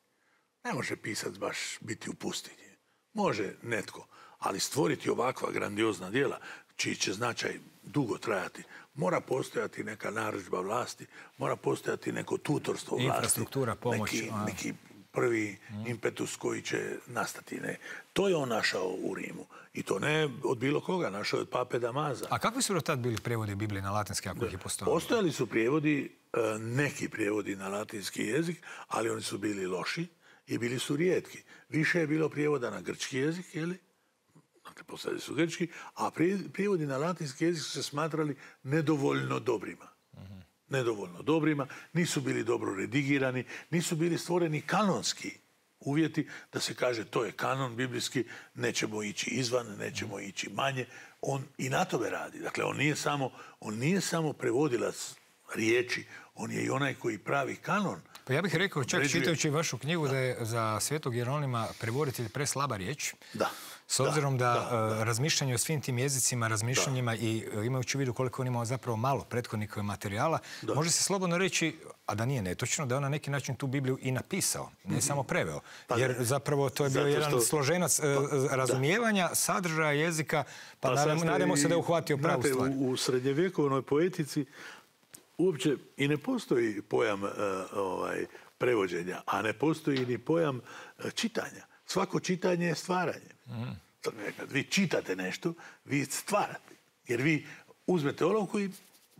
Ne može pisac baš biti u pustinji. Može netko, ali stvoriti ovakva grandiozna djela, čiji će značaj dugo trajati, mora postojati neka narudžba vlasti, mora postojati neko tutorstvo vlasti. Infrastruktura, pomoć. Neki, neki prvi mm. impetus koji će nastati. Ne. To je on našao u Rimu. I to ne od bilo koga, našao od pape Damaza. A kakvi su do tad bili prijevodi Biblije na latinski, ako ih je postojalo? Postojali su prijevodi, neki prijevodi na latinski jezik, ali oni su bili loši i bili su rijetki. Više je bilo prijevoda na grčki jezik, jeli? Dakle, postojali su grčki, a prijevodi na latinski jezik su se smatrali nedovoljno dobrima. Mm-hmm. Nedovoljno dobrima, nisu bili dobro redigirani, nisu bili stvoreni kanonski uvjeti da se kaže to je kanon biblijski, nećemo ići izvan, nećemo ići manje. On i na tome radi. Dakle, on nije samo, on nije samo prevodilac riječi, on je i onaj koji pravi kanon. Pa ja bih rekao, čak Pređuje... čitajući vašu knjigu, da, da je za Svetog Jeronima prevoditelj preslaba riječ. Da. S obzirom da, da, da, da. razmišljanje o svim tim jezicima, razmišljanjima da. i imajući u vidu koliko on imao zapravo malo prethodnika materijala, da. može se slobodno reći, a da nije netočno, da je on na neki način tu Bibliju i napisao, ne mm-hmm. samo preveo. Pa jer ne. zapravo to je bio jedan što... složenac pa, razumijevanja, da. sadržaja jezika, pa, pa nadamo, nadamo se da je uhvatio pravu znate, stvar. U, u srednjevjekovnoj poetici uopće i ne postoji pojam uh, ovaj, prevođenja, a ne postoji ni pojam uh, čitanja. Svako čitanje je stvaranje. Mm. Kad vi čitate nešto, vi stvarate. Jer vi uzmete olovku i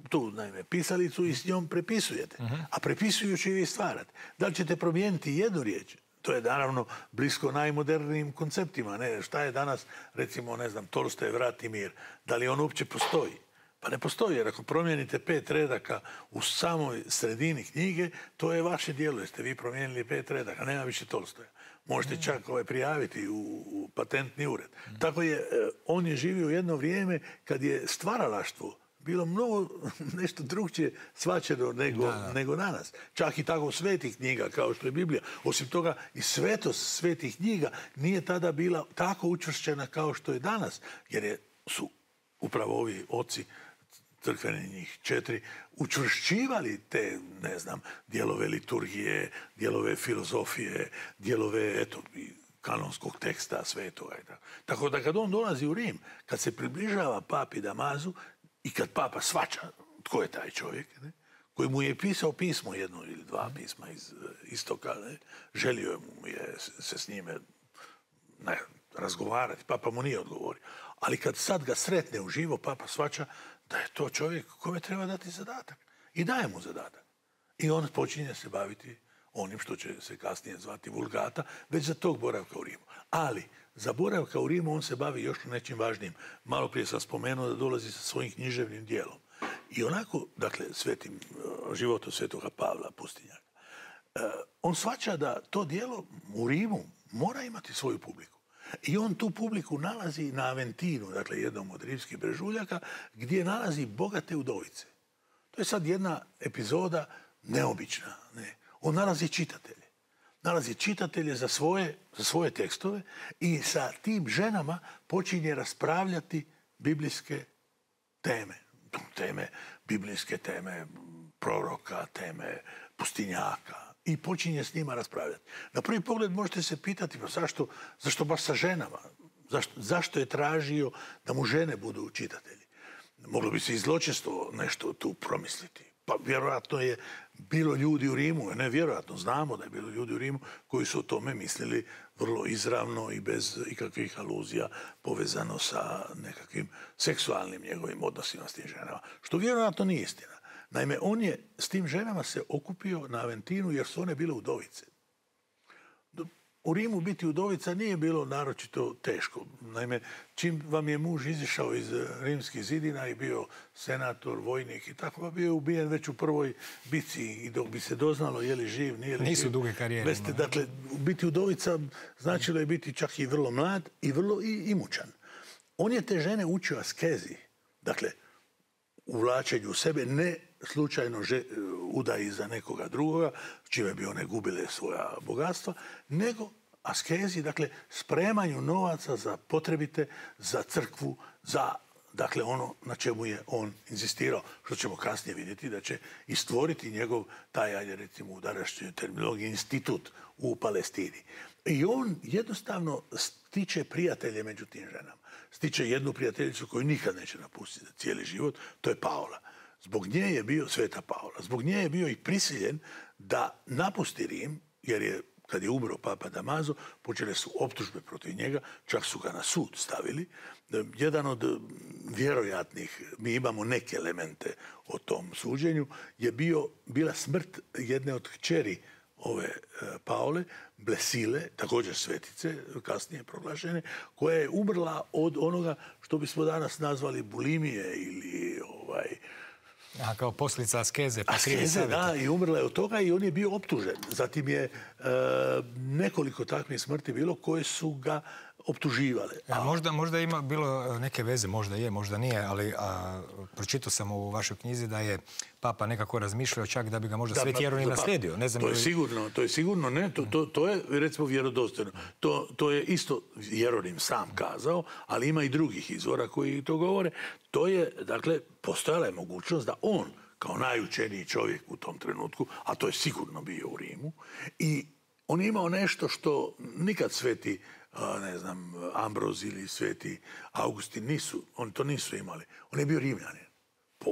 tu, naime, pisalicu i s njom prepisujete. Mm-hmm. A prepisujući vi stvarate. Da li ćete promijeniti jednu riječ? To je naravno blisko najmodernijim konceptima. Ne, šta je danas, recimo, ne znam, Tolstoj, Vrat i mir. Da li on uopće postoji? Pa ne postoji, jer ako promijenite pet redaka u samoj sredini knjige, to je vaše djelo, jer ste vi promijenili pet redaka, nema više Tolstoja. Možete čak ovaj, prijaviti u, u patentni ured. Mm. Tako je, on je živio jedno vrijeme kad je stvaralaštvo bilo mnogo nešto drugčije shvaćeno nego, da, da. nego danas. Čak i tako svetih knjiga kao što je Biblija. Osim toga i svetost svetih knjiga nije tada bila tako učvršćena kao što je danas, jer je, su upravo ovi oci crkvene njih četiri, učvršćivali te, ne znam, dijelove liturgije, dijelove filozofije, dijelove, eto, kanonskog teksta, sve toga i tako. Tako da kad on dolazi u Rim, kad se približava papi Damazu i kad papa shvaća tko je taj čovjek, ne, koji mu je pisao pismo, jedno ili dva pisma iz istoka, ne, želio mu je se s njime ne, razgovarati, papa mu nije odgovorio. Ali kad sad ga sretne uživo, papa shvaća da je to čovjek kome treba dati zadatak. I daje mu zadatak. I on počinje se baviti onim što će se kasnije zvati Vulgata, već za tog boravka u Rimu. Ali za boravka u Rimu on se bavi još nečim važnijim. Malo prije sam spomenuo da dolazi sa svojim književnim dijelom. I onako, dakle, svetim životom svetoga Pavla Pustinjaka, on shvaća da to dijelo u Rimu mora imati svoju publiku. I on tu publiku nalazi na Aventinu, dakle jednom od rimskih brežuljaka, gdje nalazi bogate udovice. To je sad jedna epizoda neobična. Ne? On nalazi čitatelje. Nalazi čitatelje za svoje, za svoje tekstove i sa tim ženama počinje raspravljati biblijske teme. Teme, biblijske teme proroka, teme pustinjaka. I počinje s njima raspravljati. Na prvi pogled možete se pitati pa zašto, zašto baš sa ženama? Zašto, zašto je tražio da mu žene budu čitatelji? Moglo bi se i zločesto nešto tu promisliti. Pa vjerojatno je bilo ljudi u Rimu, ne vjerojatno, znamo da je bilo ljudi u Rimu koji su o tome mislili vrlo izravno i bez ikakvih aluzija povezano sa nekakvim seksualnim njegovim odnosima s tim ženama. Što vjerojatno nije istina. Naime, on je s tim ženama se okupio na Aventinu jer su one bile udovice. U Rimu biti udovica nije bilo naročito teško. Naime, čim vam je muž izišao iz rimskih zidina i bio senator, vojnik i tako, pa bio je ubijen već u prvoj bici i dok bi se doznalo je li živ, nije li živ. Nisu duge karijere. Veste, dakle, biti udovica značilo je biti čak i vrlo mlad i vrlo i imućan. On je te žene učio askezi. Dakle, uvlačenju u sebe, ne slučajno že, udaji za nekoga drugoga, čime bi one gubile svoja bogatstva, nego askezi, dakle, spremanju novaca za potrebite, za crkvu, za, dakle, ono na čemu je on inzistirao, što ćemo kasnije vidjeti da će i stvoriti njegov, taj, ajde recimo u današnjoj terminologiji, institut u Palestini. I on jednostavno stiče prijatelje među tim ženama. Stiče jednu prijateljicu koju nikad neće napustiti za cijeli život, to je Paola. Zbog nje je bio, Sveta Paola, zbog nje je bio i prisiljen da napusti Rim, jer je, kad je umro papa Damazo, počele su optužbe protiv njega, čak su ga na sud stavili. Jedan od vjerojatnih, mi imamo neke elemente o tom suđenju, je bio, bila smrt jedne od kćeri ove Paole, Blesile, također svetice, kasnije proglašene, koja je umrla od onoga što bismo danas nazvali bulimije ili ovaj... A, kao posljedica askeze. Pa askeze, da, i umrla je od toga i on je bio optužen. Zatim je e, nekoliko takvih smrti bilo koje su ga optuživale. A, možda, možda ima bilo neke veze, možda je, možda nije, ali a, pročitao sam u vašoj knjizi da je papa nekako razmišljao čak da bi ga možda Sveti Jeronim naslijedio. Ne znam, to je sigurno, to je sigurno, ne, to, to, to je recimo vjerodostojno. To, to je isto Jeronim sam kazao, ali ima i drugih izvora koji to govore. To je, dakle, postojala je mogućnost da on, kao najučeniji čovjek u tom trenutku, a to je sigurno bio u Rimu, i on je imao nešto što nikad sveti, ne znam, Ambroz ili sveti Augustin nisu, oni to nisu imali. On je bio Rimljanin po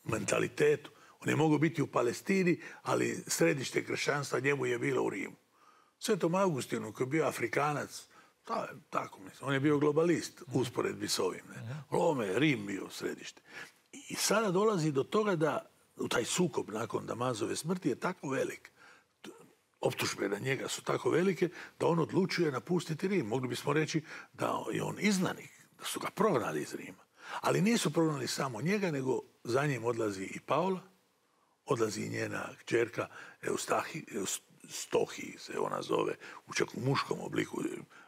mentalitetu. On je mogao biti u Palestini, ali središte kršćanstva njemu je bilo u Rimu. Svetom Augustinu, koji je bio Afrikanac, ta, tako mislim, on je bio globalist usporedbi s ovim. Ne? Ovome je Rim bio središte. I sada dolazi do toga da u taj sukob nakon Damazove smrti je tako velik. Optužbe na njega su tako velike da on odlučuje napustiti Rim. Mogli bismo reći da je on izgnanik, da su ga prognali iz Rima. Ali nisu prognali samo njega, nego za njim odlazi i Paola, odlazi i njena kćerka Eustahi, Eustohiji se ona zove, u čak u muškom obliku,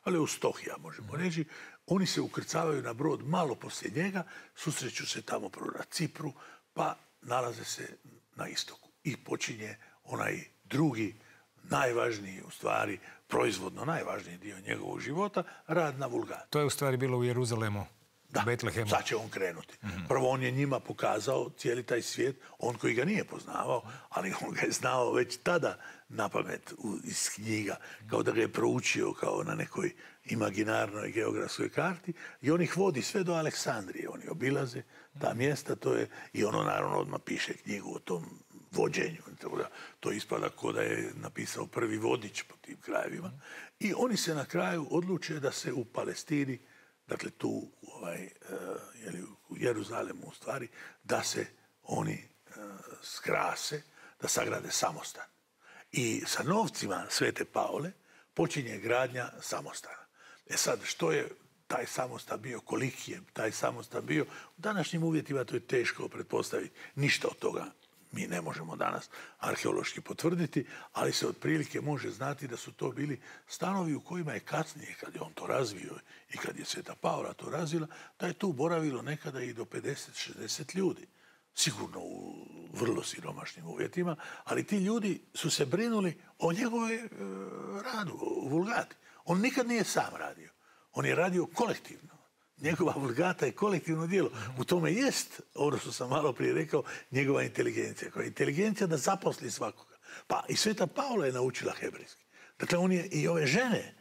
ali Eustohija možemo reći. Oni se ukrcavaju na brod malo poslije njega, susreću se tamo prvo na Cipru, pa nalaze se na istoku. I počinje onaj drugi, najvažniji u stvari, proizvodno najvažniji dio njegovog života, rad na Vulgati. To je u stvari bilo u Jeruzalemu. Da, Betlehemu. sad će on krenuti. Prvo on je njima pokazao cijeli taj svijet, on koji ga nije poznavao, ali on ga je znao već tada napamet iz knjiga, kao da ga je proučio kao na nekoj imaginarnoj geografskoj karti i on ih vodi sve do Aleksandrije. Oni obilaze ta mjesta, to je, i ono naravno odmah piše knjigu o tom vođenju. To ispada ko da je napisao prvi vodič po tim krajevima. I oni se na kraju odluče da se u Palestini, dakle tu ovaj, u Jeruzalemu u stvari, da se oni skrase, da sagrade samostan. I sa novcima Svete Paule počinje gradnja samostana. E sad, što je taj samostan bio, koliki je taj samostan bio, u današnjim uvjetima to je teško pretpostaviti. Ništa od toga mi ne možemo danas arheološki potvrditi, ali se otprilike može znati da su to bili stanovi u kojima je kasnije, kad je on to razvio i kad je Sveta Paula to razvila, da je tu boravilo nekada i do pedeset do šezdeset ljudi. Sigurno u vrlo siromašnim uvjetima, ali ti ljudi su se brinuli o njegovoj e, radu, o Vulgati. On nikad nije sam radio. On je radio kolektivno. Njegova Vulgata je kolektivno djelo. U tome jest, ono što sam malo prije rekao, njegova inteligencija. Koja je inteligencija da zaposli svakoga. Pa i Sveta Paula je naučila hebrejski. Dakle, on je i ove žene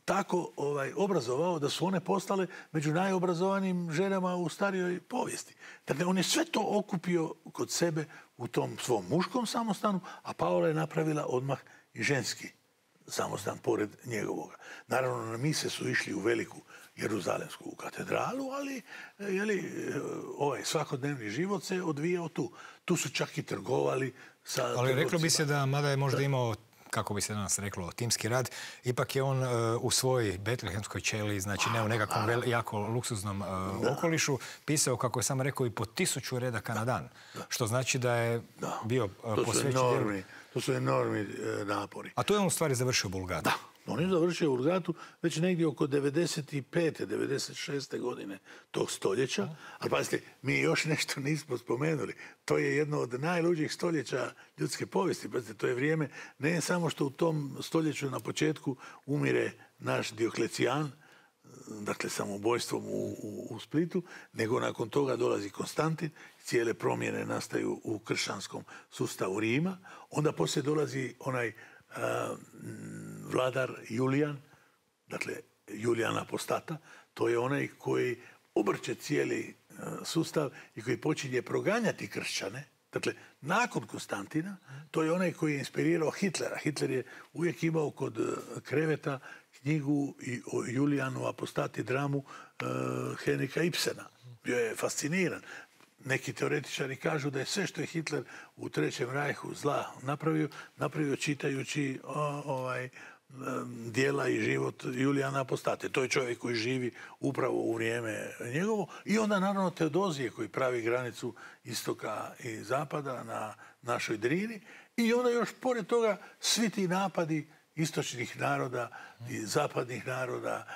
tako ovaj, obrazovao da su one postale među najobrazovanijim ženama u starijoj povijesti. Dakle, on je sve to okupio kod sebe u tom svom muškom samostanu, a Paula je napravila odmah i ženski samostan pored njegovoga. Naravno, na mise su išli u veliku Jeruzalemsku katedralu, ali jeli, ovaj svakodnevni život se odvijao tu. Tu su čak i trgovali sa Ali trgovcima. reklo bi se da, mada je možda imao, kako bi se danas reklo, timski rad, ipak je on uh, u svojoj betlehemskoj ćeliji, znači ne u nekakvom vel, jako luksuznom uh, okolišu, pisao, kako je sam rekao, i po tisuću redaka na dan. Da. Što znači da je da. bio uh, posvećen djelu. To su enormni e, napori. A tu je on u stvari završio Vulgatu. Da, on je završio Vulgatu već negdje oko devedeset pete devedeset šeste godine tog stoljeća. Ali pazite, mi još nešto nismo spomenuli. To je jedno od najluđih stoljeća ljudske povijesti. Pazite, to je vrijeme ne samo što u tom stoljeću na početku umire naš Dioklecijan, dakle samobojstvom u, u, u Splitu, nego nakon toga dolazi Konstantin, cijele promjene nastaju u kršćanskom sustavu Rima, onda poslije dolazi onaj a, vladar Julijan, dakle Julijan Apostata, to je onaj koji obrće cijeli a, sustav i koji počinje proganjati kršćane. Dakle, nakon Konstantina, to je onaj koji je inspirirao Hitlera. Hitler je uvijek imao kod kreveta knjigu i o Julijanu Apostati, dramu uh, Henrika Ibsena. Bio je fasciniran. Neki teoretičari kažu da je sve što je Hitler u Trećem rajhu zla napravio, napravio čitajući o, ovaj, dijela i život Julijana Apostate. To je čovjek koji živi upravo u vrijeme njegovo. I onda naravno Teodozije koji pravi granicu istoka i zapada na našoj Drini. I onda još pored toga svi ti napadi istočnih naroda i zapadnih naroda,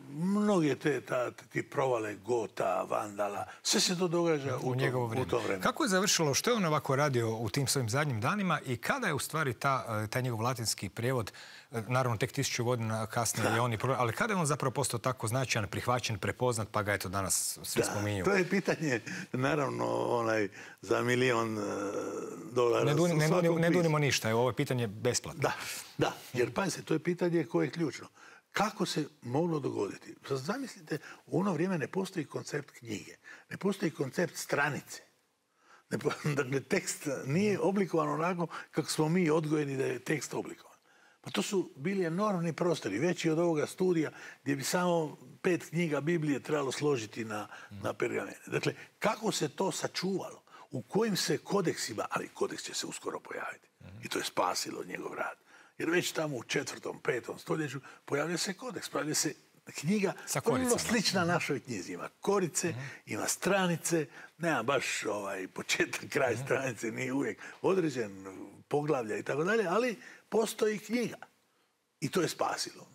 mnoge te ta, ti provale Gota, Vandala, sve se to događa u, u, njegovo tom, u tom vremenu. Kako je završilo, što je on ovako radio u tim svojim zadnjim danima i kada je u stvari ta, taj njegov latinski prijevod, naravno tek tisuću godina kasnije da. je on i pro... ali kada je on zapravo postao tako značajan, prihvaćen, prepoznat, pa ga eto danas svi spominju? To je pitanje, naravno, onaj, za milion dolara. Ne, duni, ne, duni, ne dunimo ništa, ovo je pitanje besplatno. Da, da, jer pazite, to je pitanje koje je ključno. Kako se moglo dogoditi? Zamislite, u ono vrijeme ne postoji koncept knjige, ne postoji koncept stranice. Ne, dakle, tekst nije oblikovan onako kako smo mi odgojeni da je tekst oblikovan. Pa to su bili enormni prostori, veći od ovoga studija gdje bi samo pet knjiga Biblije trebalo složiti na, na pergamene. Dakle, kako se to sačuvalo? U kojim se kodeksima, ali kodeks će se uskoro pojaviti. I to je spasilo njegov rad. Jer već tamo u četvrtom, petom stoljeću pojavlja se kodeks, pojavlja se knjiga vrlo slična našoj knjizi. Ima korice, uh-huh. ima stranice, nema baš ovaj početak, kraj uh-huh. stranice, nije uvijek određen, poglavlja i tako dalje, ali postoji knjiga. I to je spasilo.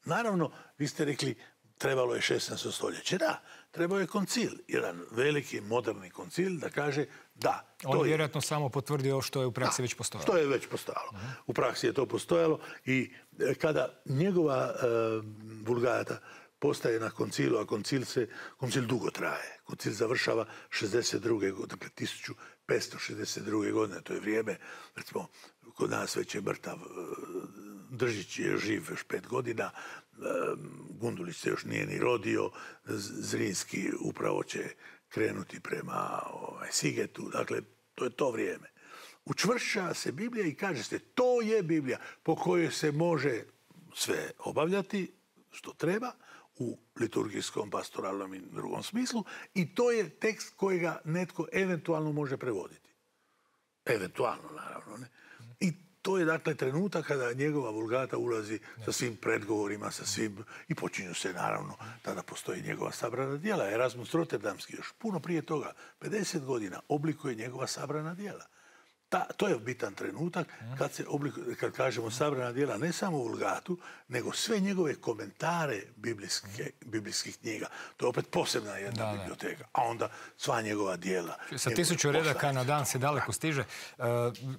Naravno, vi ste rekli, trebalo je šesnaesto stoljeće. Da, trebao je koncil, jedan veliki, moderni koncil da kaže da. On je vjerojatno samo potvrdio što je u praksi da, već postojalo. Što je već postojalo. Uh-huh. U praksi je to postojalo i kada njegova uh, Vulgata postaje na koncilu, a koncil, se, koncil dugo traje. Koncil završava šezdeset druge godine, dakle tisuću petsto šezdeset druge godine, to je vrijeme, recimo, kod nas već je mrtav, Držić je živ još pet godina, Gundulić se još nije ni rodio, Zrinski upravo će krenuti prema ovaj, Sigetu, dakle, to je to vrijeme. Učvršća se Biblija i kaže se, to je Biblija po kojoj se može sve obavljati što treba u liturgijskom, pastoralnom i drugom smislu i to je tekst kojega netko eventualno može prevoditi. Eventualno, naravno. Ne? I to je, dakle, trenutak kada njegova vulgata ulazi sa svim predgovorima, sa svim, i počinju se, naravno, tada postoji njegova sabrana djela. Erasmus Rotterdamski još puno prije toga, pedeset godina, oblikuje njegova sabrana djela. Ta, to je bitan trenutak kad, se oblikuje, kad kažemo sabrana djela, ne samo vulgatu, nego sve njegove komentare biblijske, biblijskih knjiga. To je opet posebna jedna da, biblioteka. A onda sva njegova djela. Sa tisuću redaka na dan se daleko stiže. Uh,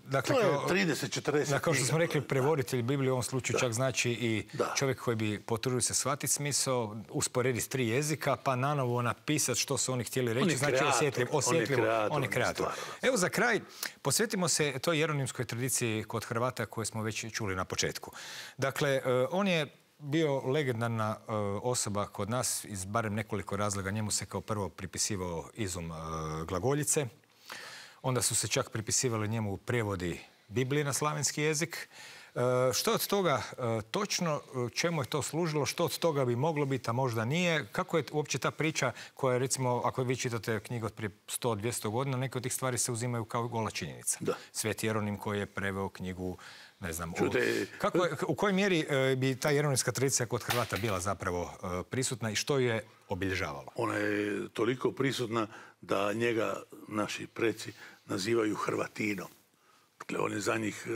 dakle, to je kao, trideset četrdeset da, kao što smo rekli, prevoditelj Biblije u ovom slučaju da. čak znači i da. čovjek koji bi potrudio se shvatiti smisao, usporediti tri jezika, pa nanovo napisati što su oni htjeli reći. On znači osjetljivo, osjetljivo, on je kreator. Evo za kraj, posvetimo se toj jeronimskoj tradiciji kod Hrvata koje smo već čuli na početku. Dakle, on je bio legendarna osoba kod nas iz barem nekoliko razloga. Njemu se kao prvo pripisivao izum glagoljice. Onda su se čak pripisivali njemu prijevodi Biblije na slavenski jezik. Što od toga točno, čemu je to služilo, što od toga bi moglo biti, a možda nije? Kako je uopće ta priča koja je, recimo, ako vi čitate knjigu od prije sto do dvjesto godina, neke od tih stvari se uzimaju kao gola činjenica. Da. Sveti Jeronim koji je preveo knjigu, ne znam, Čute, u, kako je, u kojoj mjeri bi ta jeronimska tradicija kod Hrvata bila zapravo prisutna i što je obilježavalo? Ona je toliko prisutna da njega naši preci nazivaju Hrvatinom. Dakle, on je za njih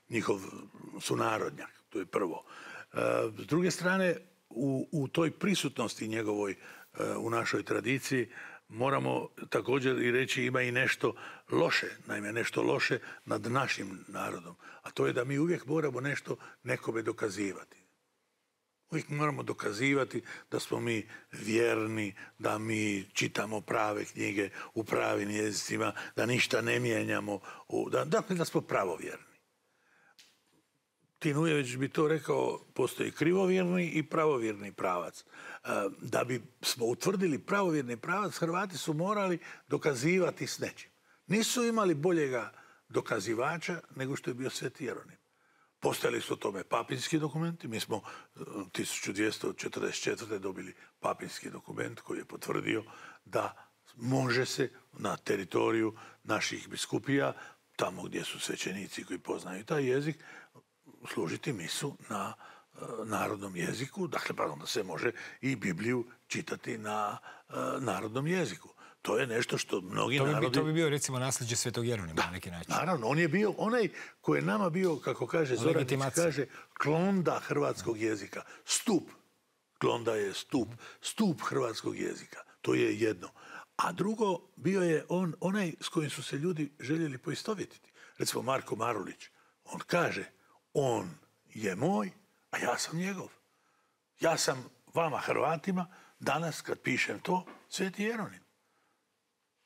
njihov sunarodnjak, to je prvo. S druge strane, u, u toj prisutnosti njegovoj u našoj tradiciji moramo također i reći ima i nešto loše, naime nešto loše nad našim narodom, a to je da mi uvijek moramo nešto nekome dokazivati. Uvijek moramo dokazivati da smo mi vjerni, da mi čitamo prave knjige u pravim jezicima, da ništa ne mijenjamo, da, dakle da smo pravovjerni. Tinujević bi to rekao, postoji krivovjerni i pravovjerni pravac. Da bi smo utvrdili pravovjerni pravac, Hrvati su morali dokazivati s nečim. Nisu imali boljega dokazivača nego što je bio Sveti Jeronim. Postojali su o tome papinski dokumenti. Mi smo tisuću dvjesto četrdeset četvrte dobili papinski dokument koji je potvrdio da može se na teritoriju naših biskupija, tamo gdje su svećenici koji poznaju taj jezik, služiti misu na uh, narodnom jeziku. Dakle, pardon, da se može i Bibliju čitati na uh, narodnom jeziku. To je nešto što mnogi to bi, narodi... To bi bio, recimo, nasljeđe Svetog Jeronima na neki način. Naravno, on je bio onaj koji je nama bio, kako kaže Zoranić, kaže, klonda hrvatskog jezika. Stup. Klonda je stup. Stup hrvatskog jezika. To je jedno. A drugo, bio je on onaj s kojim su se ljudi željeli poistovjetiti. Recimo, Marko Marulić. On kaže, on je moj, a ja sam njegov. Ja sam vama Hrvatima, danas kad pišem to, Sveti Jeronim.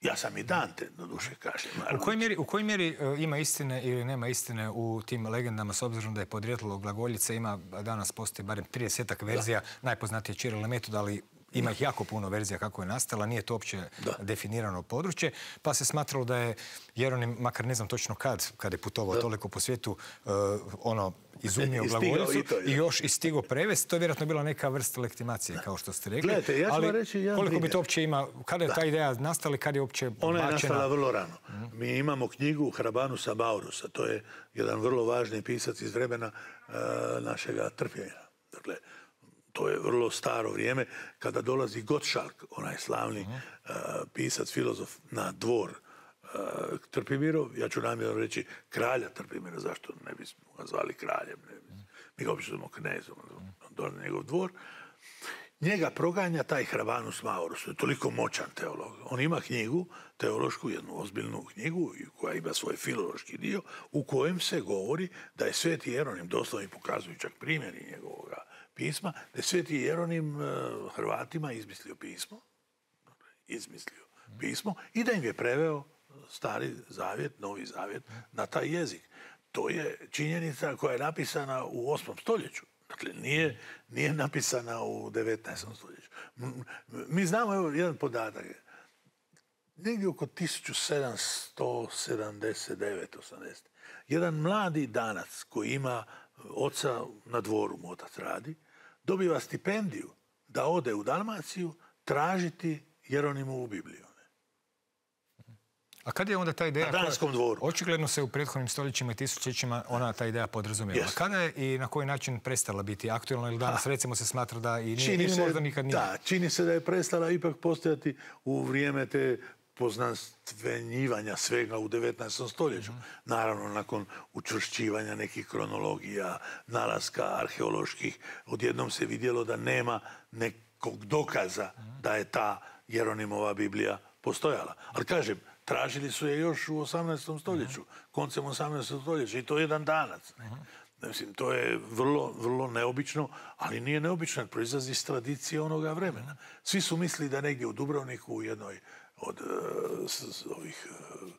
Ja sam i Dante, doduše, kaže. U kojoj mjeri, u kojoj mjeri uh, ima istine ili nema istine u tim legendama, s obzirom da je podrijetlo glagoljice, ima, danas postoji barem tridesetak verzija, da. Najpoznatije je Čiril i Metod, ali ima ih jako puno verzija kako je nastala, nije to uopće da. definirano područje, pa se smatralo da je Jeronim, makar ne znam točno kad, kad je putovao da. toliko po svijetu, uh, ono, izumio glagoljicu i, i još i stigo prevesti. To je vjerojatno bila neka vrsta legitimacije, da. kao što ste rekli. Gledajte, ja ću vam reći jedan koliko primjer. bi to uopće ima, kada je da. ta ideja nastala i kada je uopće bačena? Ona je nastala vrlo rano. Mm. Mi imamo knjigu Hrabanusa Maurusa, to je jedan vrlo važni pisac iz vremena uh, našega trpljenja. Dakle, to je vrlo staro vrijeme, kada dolazi Gottschalk, onaj slavni uh, pisac, filozof, na dvor uh, Trpimirov, ja ću namjerno reći kralja Trpimira, zašto ne bismo ga zvali kraljem, ne bismo. Mi ga obično znamo knezom, dole njegov dvor. Njega proganja taj Hrabanus Maurus, to je toliko moćan teolog. On ima knjigu, teološku, jednu ozbiljnu knjigu, koja ima svoj filološki dio, u kojem se govori da je Sveti Jeronim, doslovno i pokazuju čak primjeri njegovoga pisma, da je Sveti Jeronim Hrvatima izmislio pismo, izmislio pismo i da im je preveo Stari zavjet, Novi zavjet na taj jezik. To je činjenica koja je napisana u osmom stoljeću. Dakle, nije, nije napisana u devetnaestom stoljeću. Mi znamo, evo, jedan podatak. Negdje oko tisuću sedamsto sedamdeset devet osamdeset jedan mladi Danac koji ima oca na dvoru, mu otac radi, dobiva stipendiju da ode u Dalmaciju tražiti Jeronimovu Bibliju. A kad je onda ta ideja... Na Danskom dvoru. Očigledno se u prethodnim stoljećima i tisućećima ona ta ideja podrazumijeva. Yes. Kada je i na koji način prestala biti aktualna ili danas recimo se smatra da i nije, čini ili se, možda nikad nije? Da, čini se da je prestala ipak postojati u vrijeme te poznanstvenjivanja svega u devetnaestom stoljeću. Mm. Naravno, nakon učvršćivanja nekih kronologija, nalaska arheoloških, odjednom se vidjelo da nema nekog dokaza mm. da je ta Jeronimova Biblija postojala. Ali kažem, tražili su je još u osamnaestom stoljeću, koncem osamnaestog stoljeća i to je jedan Danac. Ne? Mislim, to je vrlo, vrlo neobično, ali nije neobično, jer proizlazi iz tradicije onoga vremena. Svi su mislili da negdje u Dubrovniku, u jednoj od uh, s, s, ovih uh,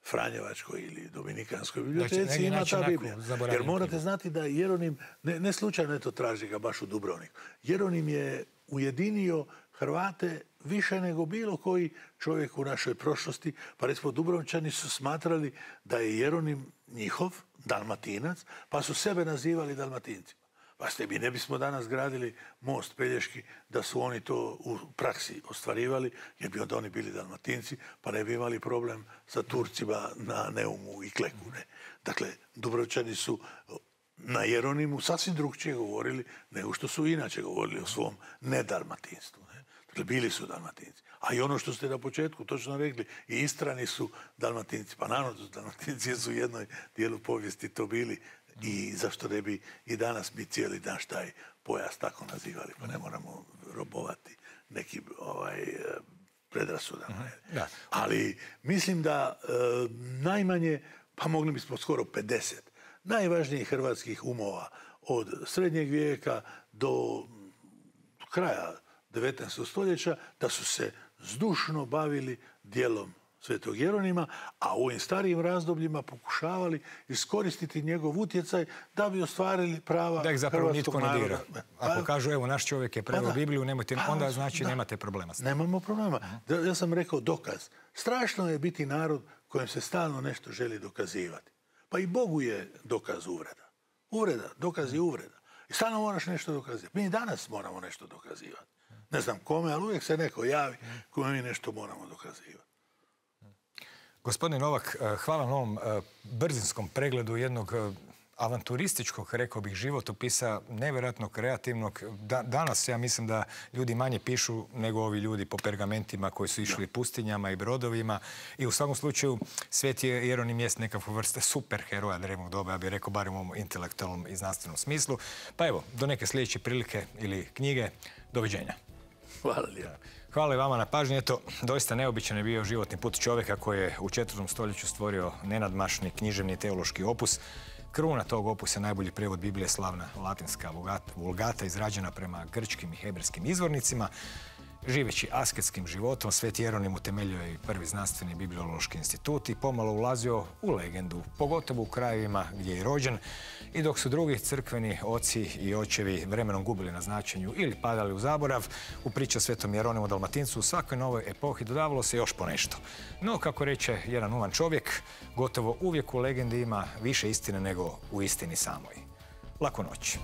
Franjevačkoj ili Dominikanskoj biblioteci ima ta Biblija. Jer morate znati da Jeronim, ne, ne slučajno je to traži ga baš u Dubrovniku, Jeronim je ujedinio Hrvate više nego bilo koji čovjek u našoj prošlosti. Pa recimo Dubrovčani su smatrali da je Jeronim njihov, Dalmatinac, pa su sebe nazivali Dalmatincima. Pa ste mi ne bismo danas gradili most Pelješki da su oni to u praksi ostvarivali, jer bi onda oni bili Dalmatinci, pa ne bi imali problem sa Turcima na Neumu i Kleku. Ne? Dakle, Dubrovčani su na Jeronimu sasvim drugčije govorili nego što su inače govorili o svom nedalmatinstvu. Ne? Dakle, bili su Dalmatinci. A i ono što ste na početku točno rekli, i Istrani su Dalmatinci. Pa naravno, Dalmatinci su u jednoj dijelu povijesti to bili. I zašto ne bi i danas mi cijeli dan taj pojas tako nazivali, pa ne moramo robovati nekim ovaj, predrasudama. Da. Ali mislim da e, najmanje, pa mogli bismo skoro pedeset najvažnijih hrvatskih umova od srednjeg vijeka do kraja devetnaestog stoljeća, da su se zdušno bavili djelom Svetog Jeronima, a u ovim starijim razdobljima pokušavali iskoristiti njegov utjecaj da bi ostvarili prava da ih zapravo hrvatskog nitko ne naroda. dira. Ako kažu, evo, naš čovjek je preveo pa Bibliju, nemojte, pa, onda znači da. nemate problema s tim. Nemamo problema. Uh-huh. Ja sam rekao dokaz. Strašno je biti narod kojem se stalno nešto želi dokazivati. Pa i Bogu je dokaz uvreda. Uvreda, dokaz je uvreda. I stalno moraš nešto dokazivati. Mi danas moramo nešto dokazivati. Ne znam kome, ali uvijek se neko javi kome mi nešto moramo dokazivati. Gospodine Novak, hvala na ovom brzinskom pregledu jednog avanturističkog, rekao bih, životopisa, nevjerojatno kreativnog. Da, danas ja mislim da ljudi manje pišu nego ovi ljudi po pergamentima koji su išli pustinjama i brodovima. I u svakom slučaju Sveti Jeronim jest nekakva vrsta superheroja drevnog doba, ja bih rekao, barem u ovom intelektualnom i znanstvenom smislu. Pa evo, do neke sljedeće prilike ili knjige. Doviđenja. Hvala lijepo. Hvala i vama na pažnji. Eto, doista neobičan je bio životni put čovjeka koji je u četvrtom stoljeću stvorio nenadmašni književni teološki opus. Kruna tog opusa je najbolji prijevod Biblije, slavna latinska vulgata, izrađena prema grčkim i hebrejskim izvornicima. Živeći asketskim životom, Sveti Jeronim utemeljio je i prvi znanstveni bibliološki institut i pomalo ulazio u legendu, pogotovo u krajevima gdje je rođen. I dok su drugi crkveni oci i očevi vremenom gubili na značenju ili padali u zaborav, u priči o Svetom Jeronimu Dalmatincu u svakoj novoj epohi dodavalo se još ponešto. No, kako reče jedan uman čovjek, gotovo uvijek u legendi ima više istine nego u istini samoj. Laku noć.